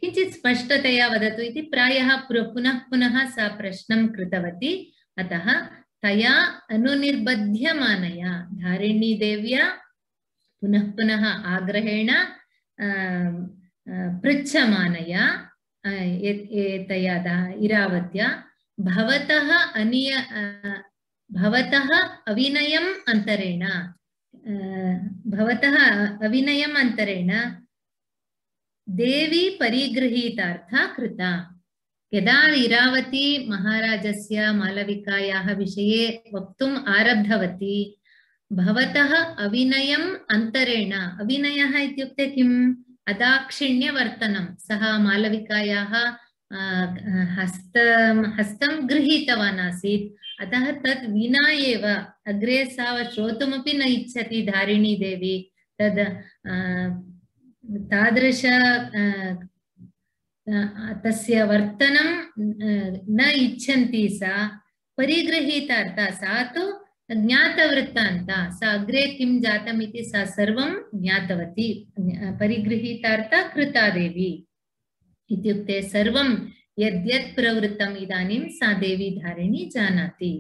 किञ्चित् स्पष्टतया वदतु इति प्रायः पुनः पुनः सा प्रश्नं कृतवती अतः तया अनुनिर्बध्यमानया धारिणी देव्या पुनः पुनः आग्रहेण पृच्छमानया एतया इरावत्या भवतः अनिय भवतः अविनयम् अन्तरेण भवतः अविनयम् अन्तरेण देवी परिगृहीतार्था कृता यदा इरावती महाराजस्य मालविकायाः विषये वक्तुम् आरब्धवती भवतः अविनयम् अन्तरेण अविनयः इत्युक्ते किम् अदाक्षिण्यवर्तनं सः मालविकायाः हस्तं हस्तं गृहीतवान् आसीत् अतः तत् विना एव अग्रे सा श्रोतुमपि न इच्छति धारिणी देवी तद् तादृश तस्य वर्तनं न इच्छन्ति सा परिगृहीतार्था सा तु ज्ञातवृत्तान्ता सा अग्रे किं जातम् इति सा सर्वं ज्ञातवती परिगृहीतार्था कृता देवी इत्युक्ते सर्वं यद्यत् प्रवृत्तम् इदानीं सा देवी धारिणी जानाति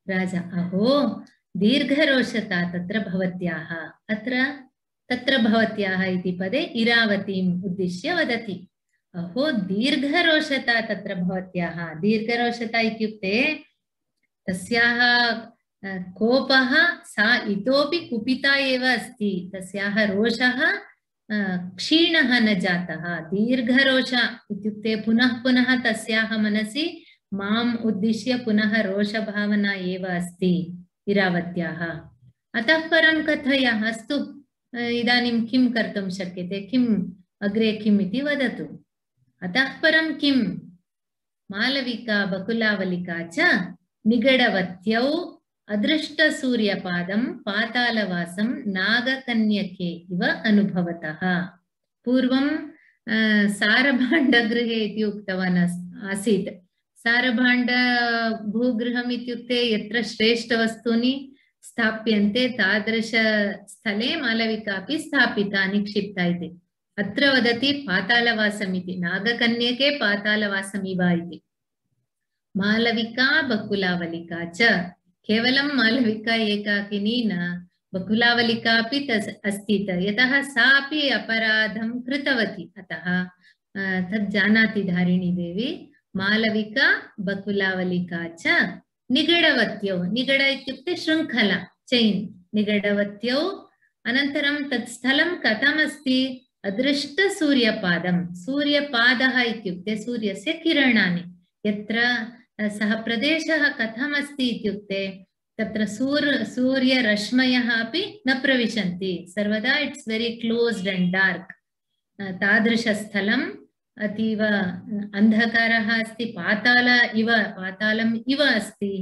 राजा अहो दीर्घरोषता तत्र भवत्याः अत्र तत्र भवत्याः इति पदे इरावतीम् उद्दिश्य वदति अहो दीर्घरोषता तत्र भवत्याः दीर्घरोषता इत्युक्ते तस्याः कोपः सा इतोपि कुपिता एव अस्ति तस्याः रोषः क्षीणः न जातः दीर्घरोष इत्युक्ते पुनः पुनः तस्याः मनसि माम् उद्दिश्य पुनः रोषभावना एव अस्ति इरावत्याः अतः परं कथय अस्तु इदानीं किं कर्तुं शक्यते किम् अग्रे किम् इति वदतु अतः परं किं मालविका बकुलावलिका च निगडवत्यौ अदृष्टसूर्यपादं पातालवासं नागकन्यके इव अनुभवतः पूर्वं सारभाण्डगृहे इति उक्तवान् आसीत् सारभाण्ड भूगृहम् इत्युक्ते यत्र श्रेष्ठवस्तूनि स्थाप्यन्ते तादृश स्थले मालविका अपि स्थापिता निक्षिप्ता इति अत्र वदति पातालवासम् इति नागकन्यके पातालवासम् इव इति मालविका बकुलावलिका च केवलं मालविका एकाकिनी न बकुलावलिका अपि अस्ति यतः सा अपि अपराधं कृतवती अतः तद् जानाति धारिणी देवी मालविका बकुलावलिका च निगडवत्यौ निगड इत्युक्ते शृङ्खला चैन् निगडवत्यौ अनन्तरं तत् स्थलं कथमस्ति अदृष्टसूर्यपादं सूर्यपादः इत्युक्ते सूर्यस्य किरणानि यत्र सः प्रदेशः कथमस्ति इत्युक्ते तत्र सूर्य सूर्यरश्मयः अपि न प्रविशन्ति सर्वदा it's very closed and dark तादृशस्थलम् अतीव अन्धकारः अस्ति, पाताल इव पातालम् इव अस्ति।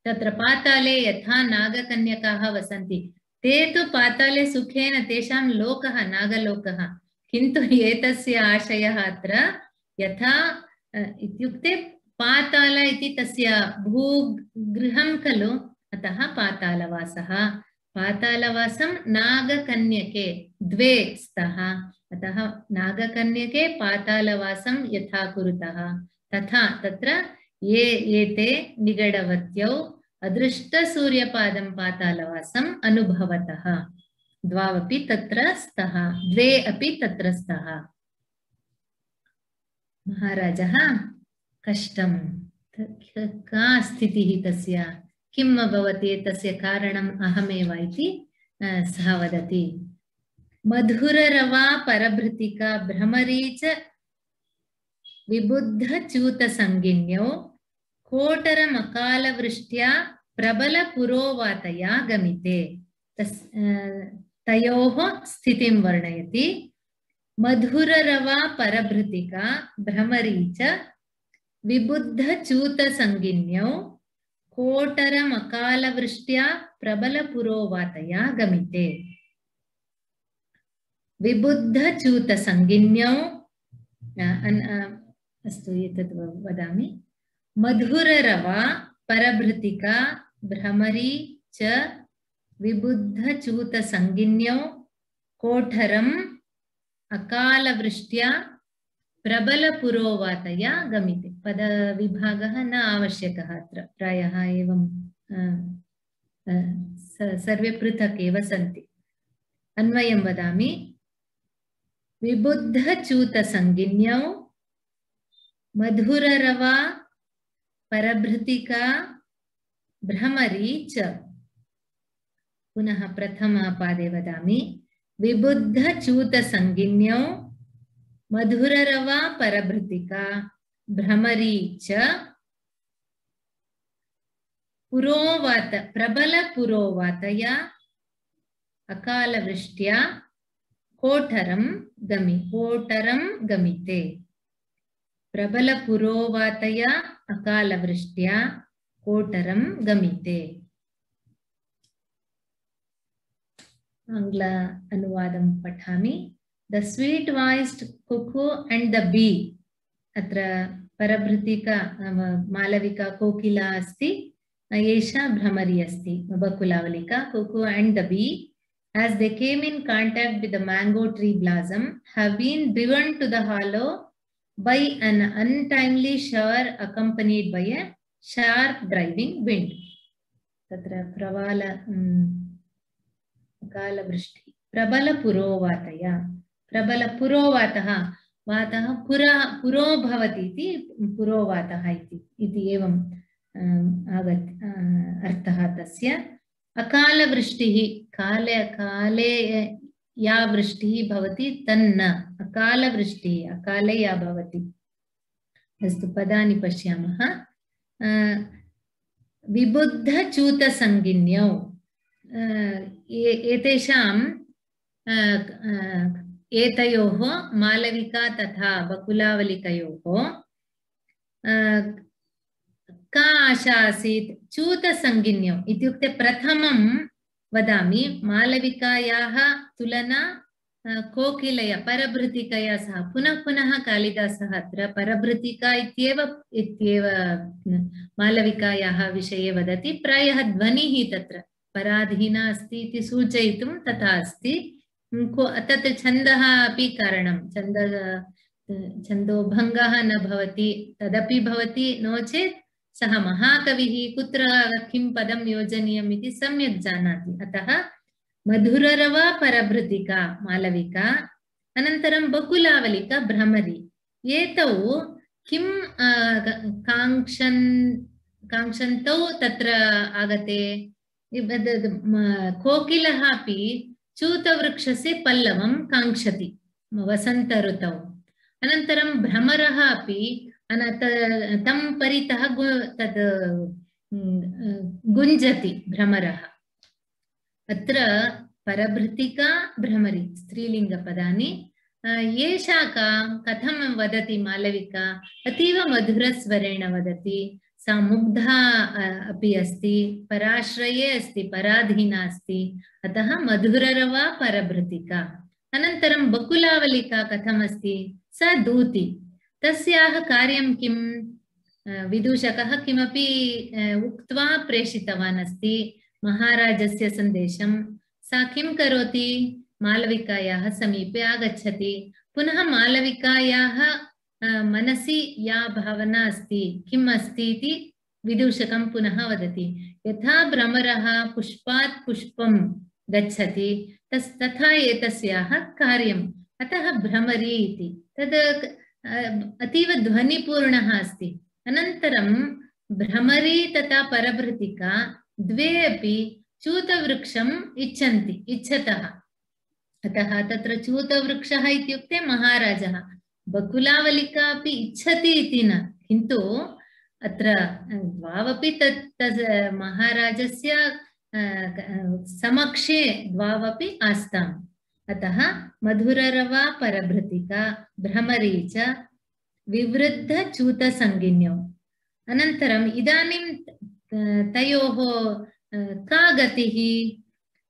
तत्र पाताले यथा नागकन्यकाः वसन्ति, ते तु पाताले सुखेन तेषां लोकः नागलोकः, किन्तु एतस्य आशयः अत्र यथा इत्युक्ते पाताल इति तस्य भूगृहं खलु, अतः पातालवासः। पातालवासं नागकन्यके द्वे स्तः, अतः नागकन्यके पातालवासं यथा कुरुतः तथा तत्र ये एते निगडवत्यौ अदृष्टसूर्यपादं पातालवासम् अनुभवतः। द्वावपि तत्र स्तः, द्वे अपि तत्र स्तः। महाराजः कष्टं, का स्थितिः तस्य, किम् अभवत्, एतस्य कारणम् अहमेव इति सः वदति। मधुररवा परभृतिका भ्रमरी च विबुद्धच्यूतसंगिन्यौ कोटरमकालवृष्ट्या प्रबलपुरोवातया गमिते। तस् तयोः स्थितिं वर्णयति। मधुररवा परभृतिका भ्रमरी च विबुद्धच्यूतसंगिन्यौ कोटरमकालवृष्ट्या प्रबलपुरोवातया गमिते। विबुद्धच्यूतसंगिन्यौ, अस्तु एतत् वदामि। मधुररवा परभृतिका भ्रमरी च विबुद्धच्यूतसंगिन्यौ कोठरम् अकालवृष्ट्या प्रबलपुरोवातया गमिते। पदविभागः न आवश्यकः अत्र, प्रायः एवं सर्वे पृथक् एव सन्ति। अन्वयं वदामि। विबुद्धच्यूतसंगिन्यौ मधुररवा परभृतिका भ्रमरी च। पुनः प्रथमपादे वदामि। विबुद्धच्यूतसंगिन्यौ मधुररवा परभृतिका भ्रमरी च पुरोवात प्रबलपुरोवातया अकालवृष्ट्या कोठरं गमि कोटरं गमिते। प्रबलपुरोवातया अकालवृष्ट्या कोटरं गमिते। आंग्ल अनुवादं पठामि। The sweet voiced cuckoo and the bee. अत्र परभृतिका मालविका कोकिला अस्ति, एषा भ्रमरी अस्ति बकुलावलिका। Cuckoo and the bee, as they came in contact with the mango tree blossom, have been driven to the hollow by an untimely shower accompanied by a sharp driving wind. तत्र प्रवाल कालवृष्टि प्रबलपुरोवातया। प्रबलपुरोवातः, वातः पुरा पुरो भवति इति पुरोवातः इति एवं आगत् अर्थः तस्य। अकालवृष्टिः, काले काले या वृष्टिः भवति तन्न अकालवृष्टिः, अकाले या भवति। अस्तु, पदानि पश्यामः। विबुद्धच्यूतसंगिन्यौ, एतेषां एतयोः मालविका तथा बकुलावलिकयोः का आशा आसीत्? च्यूतसंगिन्यौ इत्युक्ते प्रथमं वदामि, मालविकायाः तुलना कोकिलया परभृतिकया सह। पुनः पुनः कालिदासः अत्र परभृतिका इत्येव इत्येव मालविकायाः विषये वदति। प्रायः ध्वनिः तत्र पराधीना अस्ति इति सूचयितुं तथा अस्ति। तत् छन्दः अपि कारणं, छन्द छन्दोभङ्गः न भवति तदपि भवति, नो चेत् सः महाकविः कुत्र किं पदं योजनीयम् इति सम्यक् जानाति। अतः मधुररवा परभृतिका मालविका, अनन्तरं बकुलावलिका भ्रमरी, एतौ किं काङ्क्षन् काङ्क्षन्तौ तत्र आगते। कोकिलः अपि च्यूतवृक्षस्य पल्लवं काङ्क्षति वसन्त ऋतौ। अनन्तरं भ्रमरः अपि तं परितः तद् गुञ्जति भ्रमरः। अत्र परभृतिका भ्रमरी स्त्रीलिङ्गपदानि। एषा का कथं वदति मालविका अतीव मधुरस्वरेण वदति सा मुग्धा अपि अस्ति पराश्रये अस्ति पराधीना अस्ति अतः मधुररवा परभृतिका अनन्तरं बकुलावलिका कथमस्ति सा दूती तस्याः कार्यं किं विदूषकः किमपि उक्त्वा प्रेषितवान् अस्ति महाराजस्य सन्देशं सा किं करोति मालविकायाः समीपे आगच्छति पुनः मालविकायाः मनसि या भावना अस्ति किम् अस्ति इति विदूषकं पुनः वदति यथा भ्रमरः पुष्पात् पुष्पं गच्छति तस् तथा एतस्याः कार्यम् अतः भ्रमरी इति तद् अतीव ध्वनिपूर्णः अस्ति अनन्तरं भ्रमरी तथा परभृतिका द्वे अपि च्यूतवृक्षम् इच्छन्ति इच्छतः अतः तत्र च्यूतवृक्षः इत्युक्ते महाराजः बकुलावलिका अपि इच्छति इति न किन्तु अत्र द्वावपि तत् तत् महाराजस्य समक्षे द्वावपि आस्ताम् अतः मधुररवा परभृतिका भ्रमरी च विवृद्धच्यूतसंज्ञौ अनन्तरम् इदानीं तयोः का गतिः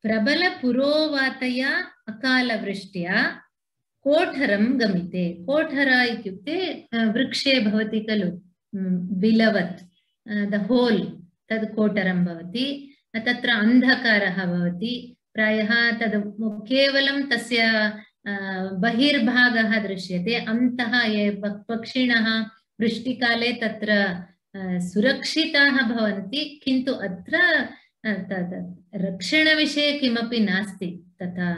प्रबलपुरोवातया अकालवृष्ट्या कोठरं गमिते कोठर इत्युक्ते वृक्षे भवति खलु बिलवत् द होल तद् कोठरं भवति तत्र अन्धकारः भवति प्रायः तद् केवलं तस्य बहिर्भागः दृश्यते अन्तः ये पक्षिणः वृष्टिकाले तत्र सुरक्षिताः भवन्ति किन्तु अत्र रक्षणविषये किमपि नास्ति तथा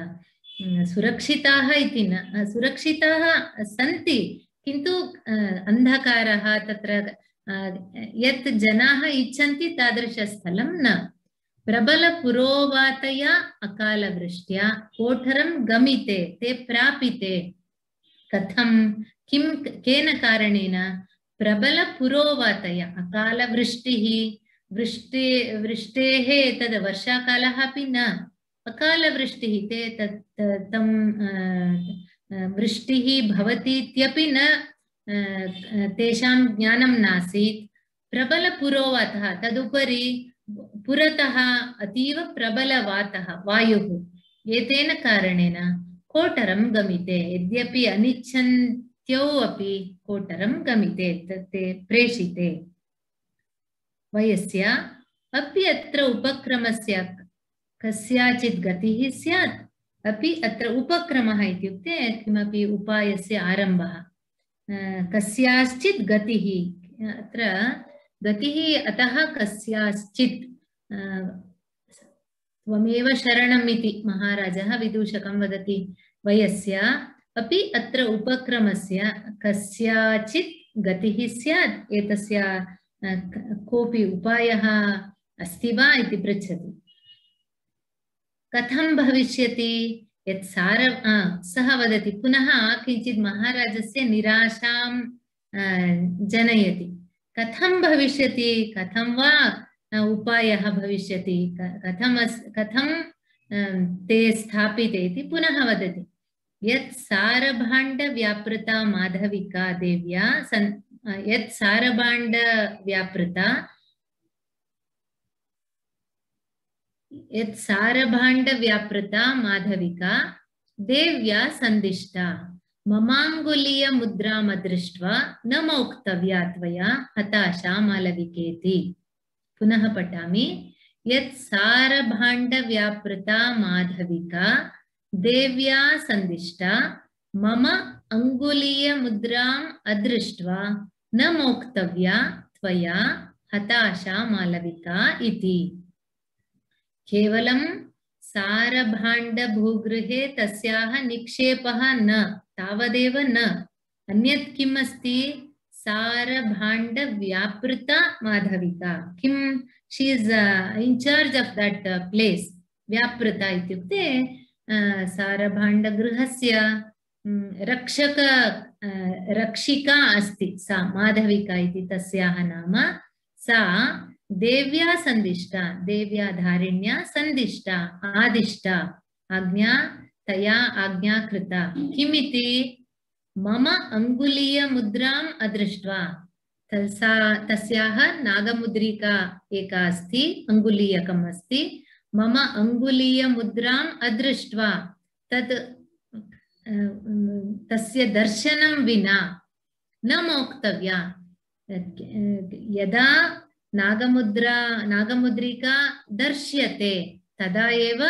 सुरक्षिताः इति न सुरक्षिताः सन्ति किन्तु अन्धकारः तत्र यत् जनाः इच्छन्ति तादृशस्थलं न प्रबलपुरोवातया अकालवृष्ट्या कोठरं गमिते ते प्रापिते कथं किं केन कारणेन प्रबलपुरोवातया अकालवृष्टिः वृष्टि वृष्टेः तद् वर्षाकालः अपि न अकालवृष्टिः ते तत् तं वृष्टिः भवति इत्यपि न तेषां ज्ञानं नासीत् प्रबलपुरोवातः तदुपरि पुरतः अतीव प्रबलवातः वायुः एतेन कारणेन कोठरं गमिते यद्यपि अनिच्छन्त्यौ अपि कोठरं गमिते ते प्रेषिते वयस्य अपि अत्र उपक्रमस्य कस्याचित् गतिः स्यात् अपि अत्र उपक्रमः इत्युक्ते किमपि उपायस्य आरम्भः कस्याश्चित् गतिः अत्र गतिः अतः कस्याश्चित् त्वमेव शरणम् इति महाराजः विदूषकं वदति वयस्य अपि अत्र उपक्रमस्य कस्याचित् गतिः स्यात् एतस्य कोऽपि उपायः अस्ति वा इति पृच्छति कथं भविष्यति यत् सार सः वदति पुनः किञ्चित् महाराजस्य निराशां जनयति कथं भविष्यति कथं वा उपायः भविष्यति कथं कथं ते स्थापिते इति पुनः वदति यत् सारभाण्डव्यापृता माधविका देव्या सन् यत् सारभाण्डव्यापृता यत् सारभाण्डव्यापृता माधविका देव्या सन्दिष्टा ममाङ्गुलीय मुद्रामदृष्ट्वा न मौक्तव्या त्वया हताशा मालविकेति पुनः पठामि यत् सारभाण्डव्यापृता माधविका देव्या सन्दिष्टा मम अंगुलीय मुद्राम् अदृष्ट्वा न मोक्तव्या त्वया हताशा मालविका इति केवलं सारभाण्डभूगृहे तस्याः निक्षेपः न तावदेव न अन्यत् किम् अस्ति सारभाण्डव्यापृता माधविका किं she is in charge of that place व्यापृता इत्युक्ते सारभाण्डगृहस्य रक्षक रक्षिका अस्ति सा माधविका इति तस्याः नाम सा देव्या सन्दिष्टा देव्या धारिण्या सन्दिष्टा आदिष्टा आज्ञा तया आज्ञा कृता किमिति मम अंगुलीयमुद्राम् अदृष्ट्वा तसा तस्याः नागमुद्रिका एका अस्ति अंगुलीयकम् अस्ति मम अंगुलीयमुद्राम् अदृष्ट्वा तत् तस्य दर्शनं विना न मोक्तव्या यदा नागमुद्रा नागमुद्रिका दर्श्यते तदा एव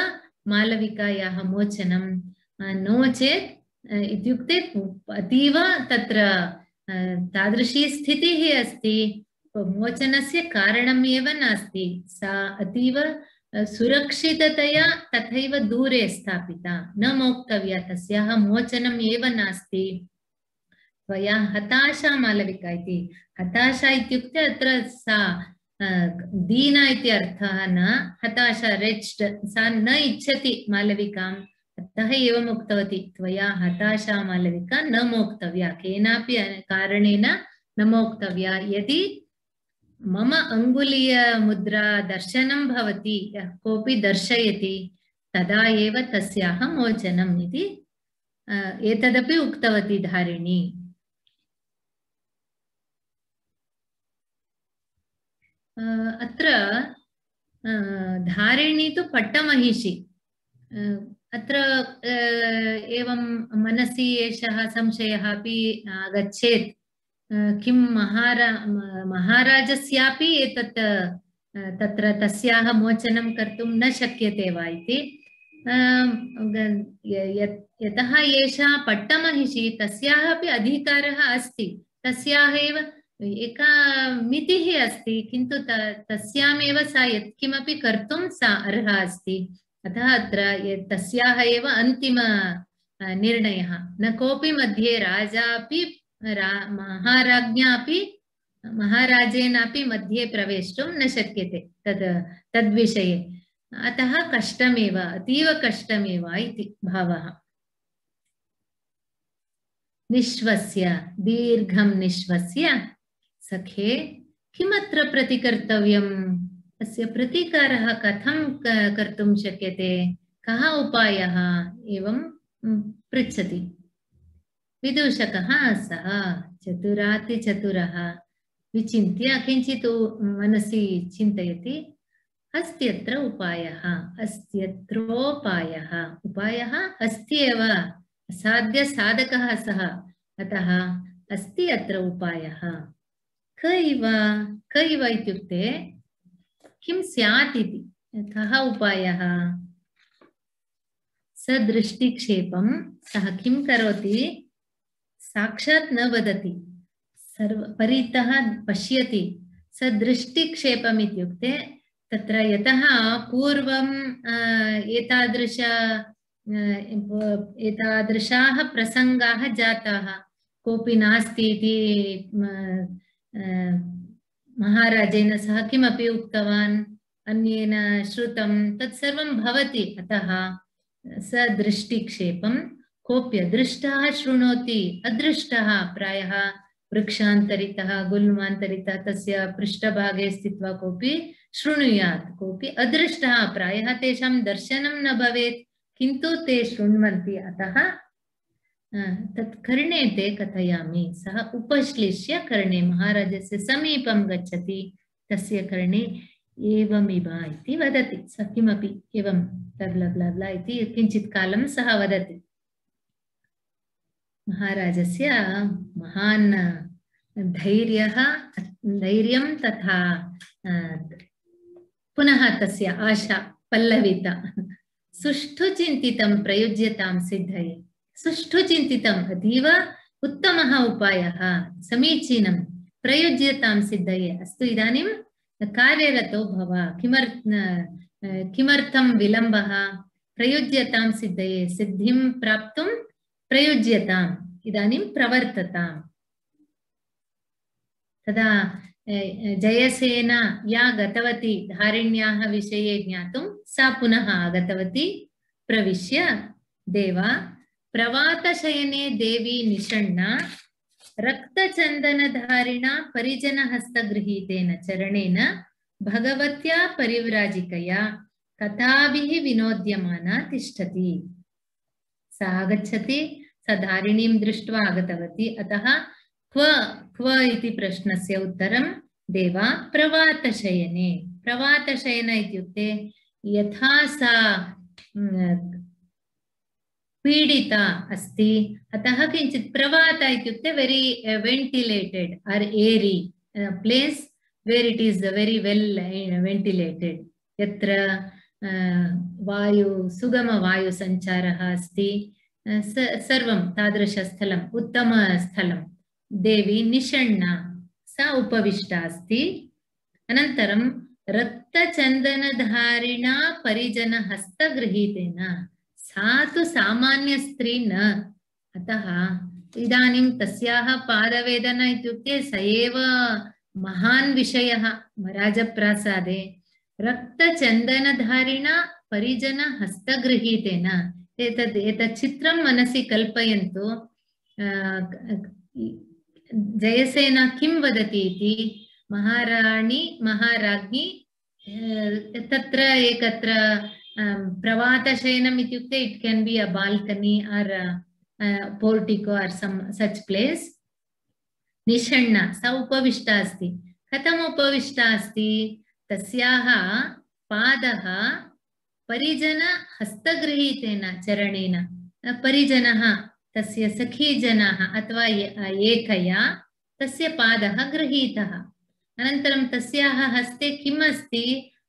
मालविकायाः मोचनं नो चेत् इत्युक्ते अतीव तत्र तादृशी स्थितिः अस्ति मोचनस्य कारणम् एव नास्ति सा अतीव सुरक्षिततया तथैव दूरे स्थापिता न मोक्तव्या तस्याः मोचनम् एव नास्ति त्वया हताशा मालविका इति हताशा इत्युक्ते अत्र सा दीना इति अर्थः न हताशा रेच्ड सा न इच्छति मालविकाम् अतः एवम् उक्तवती त्वया हताशा मालविका न मोक्तव्या केनापि कारणेन न मोक्तव्या यदि मम अंगुलीय मुद्रा दर्शनं भवति यः कोऽपि दर्शयति तदा एव तस्याः मोचनम् इति एतदपि उक्तवती धारिणी अत्र धारिणी तु पट्टमहिषी अत्र एवं मनसि एषः संशयः अपि आगच्छेत् किं महारा महाराजस्यापि एतत् तत्र तस्याः मोचनं कर्तुं न शक्यते वा इति यतः एषा पट्टमहिषी तस्याः अपि अधिकारः अस्ति तस्याः एव एका मितिः अस्ति किन्तु तस्यामेव सा यत्किमपि कर्तुं सा अर्हा अस्ति अतः अत्र तस्याः एव अन्तिम निर्णयः न कोऽपि मध्ये राजापि महाराज्ञा अपि महाराजेनापि मध्ये प्रवेष्टुं न शक्यते तद् तद्विषये अतः कष्टमेव अतीव कष्टमेव इति भावः निश्वस्य दीर्घं निश्वस्य सखे किमत्र प्रतिकर्तव्यम् अस्य प्रतीकारः कथं कर्तुं शक्यते कः उपायः एवं पृच्छति विदूषकः सः चतुरातिचतुरः विचिन्त्य किञ्चित् मनसि चिन्तयति अस्त्यत्र उपायः अस्त्यत्रोपायः उपायः अस्ति एव असाध्यसाधकः सः अतः अस्ति अत्र उपायः कैव कैव इत्युक्ते किं स्यात् इति कः उपायः सदृष्टिक्षेपं सः किं करोति साक्षात् न वदति सर्व परितः पश्यति सदृष्टिक्षेपम् इत्युक्ते तत्र यतः पूर्वं एतादृश एतादृशाः प्रसङ्गाः जाताः कोऽपि नास्ति इति महाराजेन सह किमपि उक्तवान् अन्येन श्रुतं तत्सर्वं भवति अतः सदृष्टिक्षेपं कोऽप्य दृष्टः शृणोति अदृष्टः प्रायः वृक्षान्तरितः गुल्मान्तरितः तस्य पृष्ठभागे स्थित्वा कोऽपि शृणुयात् कोऽपि अदृष्टः प्रायः तेषां दर्शनं न भवेत् किन्तु ते शृण्वन्ति अतः तत् कर्णे ते कथयामि सः उपश्लिष्य कर्णे महाराजस्य समीपं गच्छति तस्य कर्णे एवमिव इति वदति सः किमपि एवं ब्ला ब्ला ब्ला इति किञ्चित् कालं सः वदति महाराजस्य महान् धैर्यः धैर्यं तथा पुनः तस्य आशा पल्लविता सुष्ठु चिन्तितं प्रयुज्यतां सिद्धये सुष्ठु चिन्तितम् अतीव उत्तमः उपायः समीचीनं प्रयुज्यतां सिद्धये अस्तु इदानीं कार्यरतो भव किमर्थ किमर्थं विलम्बः प्रयुज्यतां सिद्धये सिद्धिं प्राप्तुं प्रयुज्यताम् इदानीं प्रवर्तताम् तदा जयसेना या गतवती धारिण्याः विषये ज्ञातुं सा पुनः आगतवती प्रविश्य देवा प्रवातशयने देवी निषण्णा रक्तचन्दनधारिणा परिजनहस्तगृहीतेन चरणेन भगवत्या परिव्राजिकया कथाभिः विनोद्यमाना तिष्ठति सा आगच्छति, सा धारिणीं दृष्ट्वा आगतवती। अतः क्व क्व इति प्रश्नस्य उत्तरं देवा प्रवातशयने। प्रवातशयन इत्युक्ते यथा सा पीडिता अस्ति, अतः किञ्चित् प्रवात इत्युक्ते very ventilated or airy place where it is very well ventilated, यत्र वायु सुगम वायु संचारः अस्ति, सर्वं तादृशस्थलम् उत्तमस्थलं। देवी निषण्णा, सा उपविष्टा अस्ति। अनन्तरं रक्तचन्दनधारिणा परिजन हस्तगृहीतेन, सा तु सामान्य स्त्री न, अतः इदानीं तस्याः पादवेदना इत्युक्ते स एव महान् विषयः राजप्रासादे। रक्तचन्दनधारिणा परिजन हस्तगृहीतेन, एतद् एतत् चित्रं मनसि कल्पयन्तु। जयसेना किं वदति इति, महाराणी महाराज्ञी तत्र एकत्र प्रवातशयनम् इत्युक्ते it can be a balcony or portico or some such place. निषण्णा, सा उपविष्टा अस्ति। कथम् उपविष्टा अस्ति? तस्याः पादः परिजन हस्तगृहीतेन चरणेन, परिजनः तस्य सखीजनाः अथवा एकया तस्य पादः गृहीतः। अनन्तरं तस्याः हस्ते किम् अस्ति?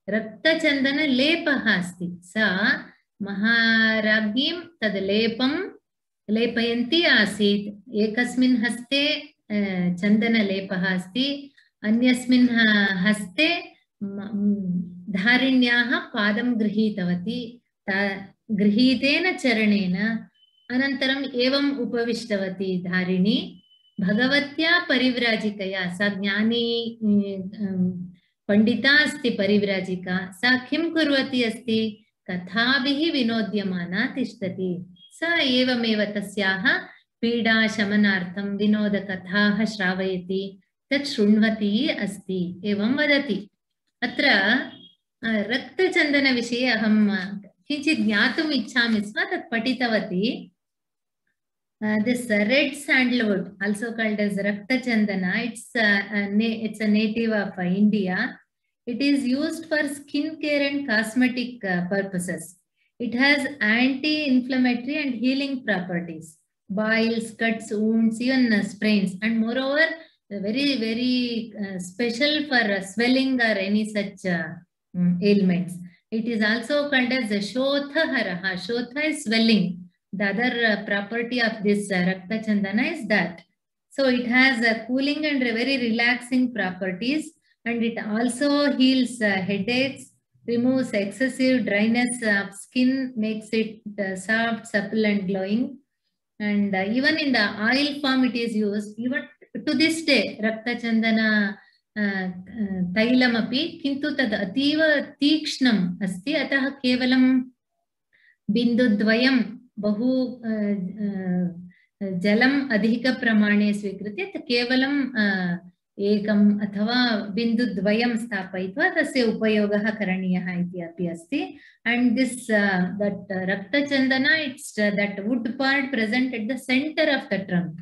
रक्तचन्दनलेपः अस्ति। सा महाराज्ञीं तद् लेपं लेपयन्ती आसीत्। एकस्मिन् हस्ते चन्दनलेपः अस्ति, अन्यस्मिन् हस्ते धारिण्याः पादं गृहीतवती। गृहीतेन चरणेन अनन्तरम् एवम् उपविष्टवती धारिणी। भगवत्या परिव्राजिकया, सा ज्ञानी पंडिता अस्ति परिव्राजिका। सा किं कुर्वती अस्ति? कथाभिः विनोद्यमाना तिष्ठति। सा एवमेव तस्याः पीडाशमनार्थं विनोदकथाः श्रावयति, तत् शृण्वती अस्ति, एवं वदति। अत्र रक्तचन्दनविषये अहं किञ्चित् ज्ञातुम् इच्छामि स्म, तत् पठितवती। Uh, this uh, red sandalwood, also called as Rakta Chandana, it's, uh, a it's a native of uh, India. It is used for skin care and cosmetic uh, purposes. It has anti-inflammatory and healing properties. Boils, cuts, wounds, even uh, sprains, and moreover, very, very uh, special for uh, swelling or any such uh, um, ailments. It is also called as a Shotha Haraha. Shotha is swelling. The other uh, property of this uh, Rakta Chandana is that. So it has uh, cooling and very relaxing properties, and it also heals uh, headaches, removes excessive dryness of skin, makes it uh, soft, supple and glowing. And uh, even in the oil form it is used. Even to this day, Rakta Chandana तैलम् अपि किन्तु तद् अतीव तीक्ष्णम् अस्ति, अतः केवलं बिन्दुद्वयं बहु जलम् अधिकप्रमाणे स्वीकृत्य केवलं एकम् अथवा बिन्दुद्वयं स्थापयित्वा तस्य उपयोगः करणीयः इति अपि अस्ति. And this uh, that uh, Rakta Chandana, it's uh, that wood part present at the center of the trunk.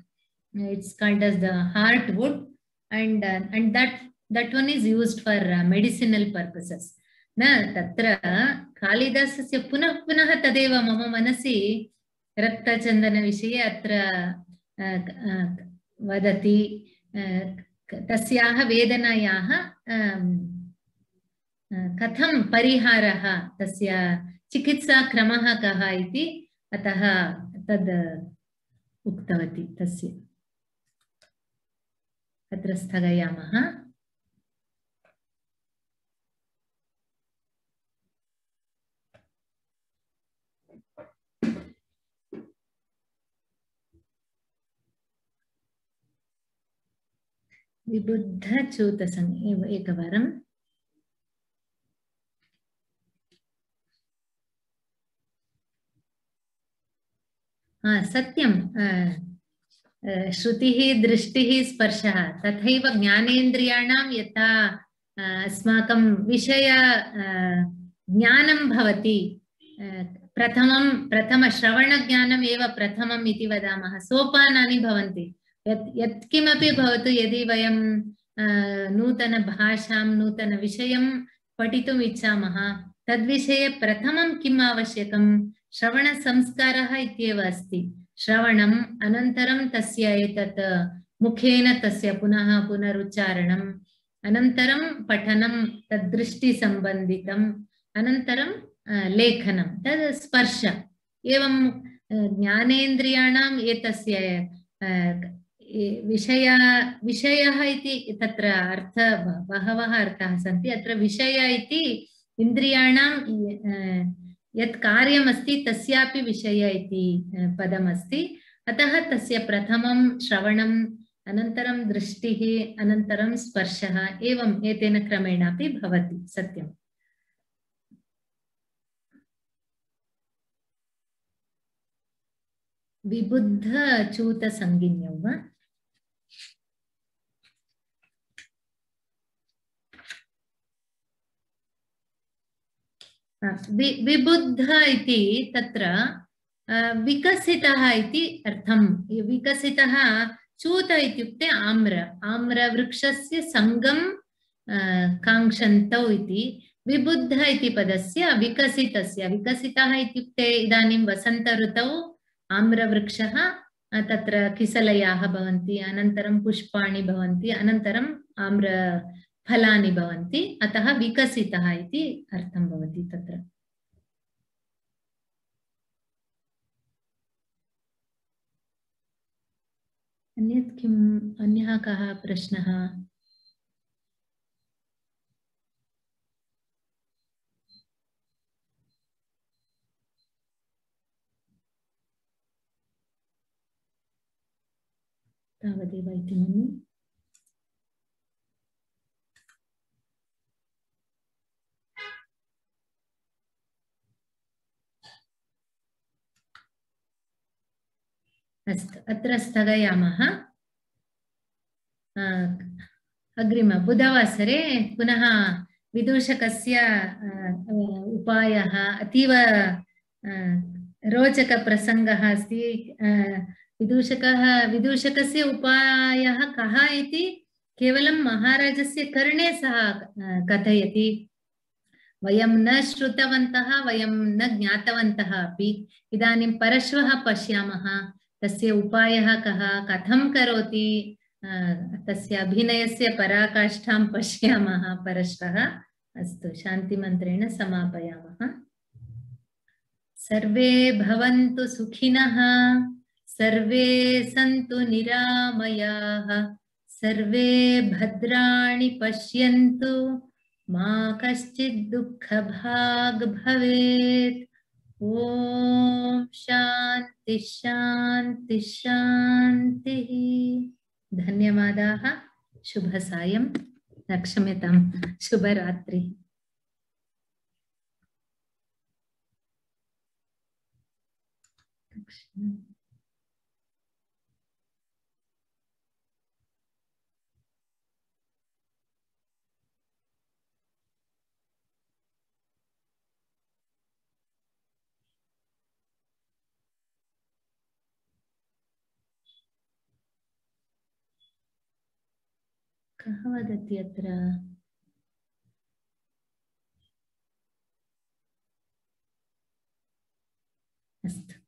It's called as the heart wood, and uh, and that that one is used for uh, medicinal purposes. Na tatra Kalidasasya punah punah tadeva mama manasi Rakta Chandana vishaye atra vadati tasyaha vedanayaha कथं परिहारः तस्य चिकित्सा क्रमः कः इति अतः तद् उक्तवती. तस्य अत्र स्थगयामः. विबुद्धच्यूतसंज्ञा एकवारं हाँ सत्यं श्रुतिः दृष्टिः स्पर्शः तथैव ज्ञानेन्द्रियाणां यथा अस्माकं विषय ज्ञानं भवति प्रथमं प्रथम श्रवणज्ञानम् एव प्रथमम् इति वदामः। सोपानानि भवन्ति। यत् यत्किमपि भवतु, यदि वयं नूतनभाषां नूतनविषयं पठितुम् इच्छामः, तद्विषये प्रथमं किम् आवश्यकं? श्रवणसंस्कारः इत्येव अस्ति। श्रवणम् अनन्तरं तस्य एतत् मुखेन तस्य पुनः पुनरुच्चारणम्, अनन्तरं पठनं तद्दृष्टिसम्बन्धितम्, अनन्तरं लेखनं, तद् स्पर्श। एवं ज्ञानेन्द्रियाणाम् एतस्य विषय विषयः इति तत्र अर्थ बहवः अर्थाः सन्ति। अत्र विषय इति इन्द्रियाणां यत् कार्यमस्ति तस्यापि विषय इति पदमस्ति। अतः तस्य प्रथमं श्रवणम्, अनन्तरं दृष्टिः, अनन्तरं स्पर्शः, एवम् एतेन क्रमेण अपि भवति। सत्यम्। विबुद्ध चूत संज्ञौ वा? विबुद्ध इति तत्र विकसितः इति अर्थं। विकसितः चूत इत्युक्ते आम्र आम्रवृक्षस्य संगं काङ्क्षन्तौ इति। विबुद्ध इति पदस्य विकसितस्य, विकसितः इत्युक्ते इदानीं वसन्त ऋतौ आम्रवृक्षः, तत्र किसलयाः भवन्ति, अनन्तरं पुष्पाणि भवन्ति, अनन्तरम् आम्रफलानि भवन्ति। अतः विकसितः इति अर्थं भवति तत्र। अन्यत् किम्? अन्यः कः प्रश्नः? तावदेव इति मन्ये। अस्तु, अत्र स्थगयामः। अग्रिम बुधवासरे पुनः विदूषकस्य उपायः अतीव रोचकप्रसङ्गः अस्ति। विदूषकः विदूषकस्य उपायः कः इति केवलं महाराजस्य कर्णे सः कथयति। वयं न श्रुतवन्तः, वयं न ज्ञातवन्तः अपि। इदानीं परश्वः पश्यामः तस्य उपायः कः, कथं करोति, तस्य अभिनयस्य पराकाष्ठां पश्यामः परश्वः। अस्तु, शान्तिमन्त्रेण समापयामः। सर्वे भवन्तु सुखिनः, सर्वे सन्तु निरामयाः, सर्वे भद्राणि पश्यन्तु, मा कश्चित् दुःखभाग् भवेत्। ओम शांति शांति शांतिः। धन्यवादाः। शुभ सायं, क्षम्यतां, शुभरात्रि। कः वदति अत्र? अस्तु।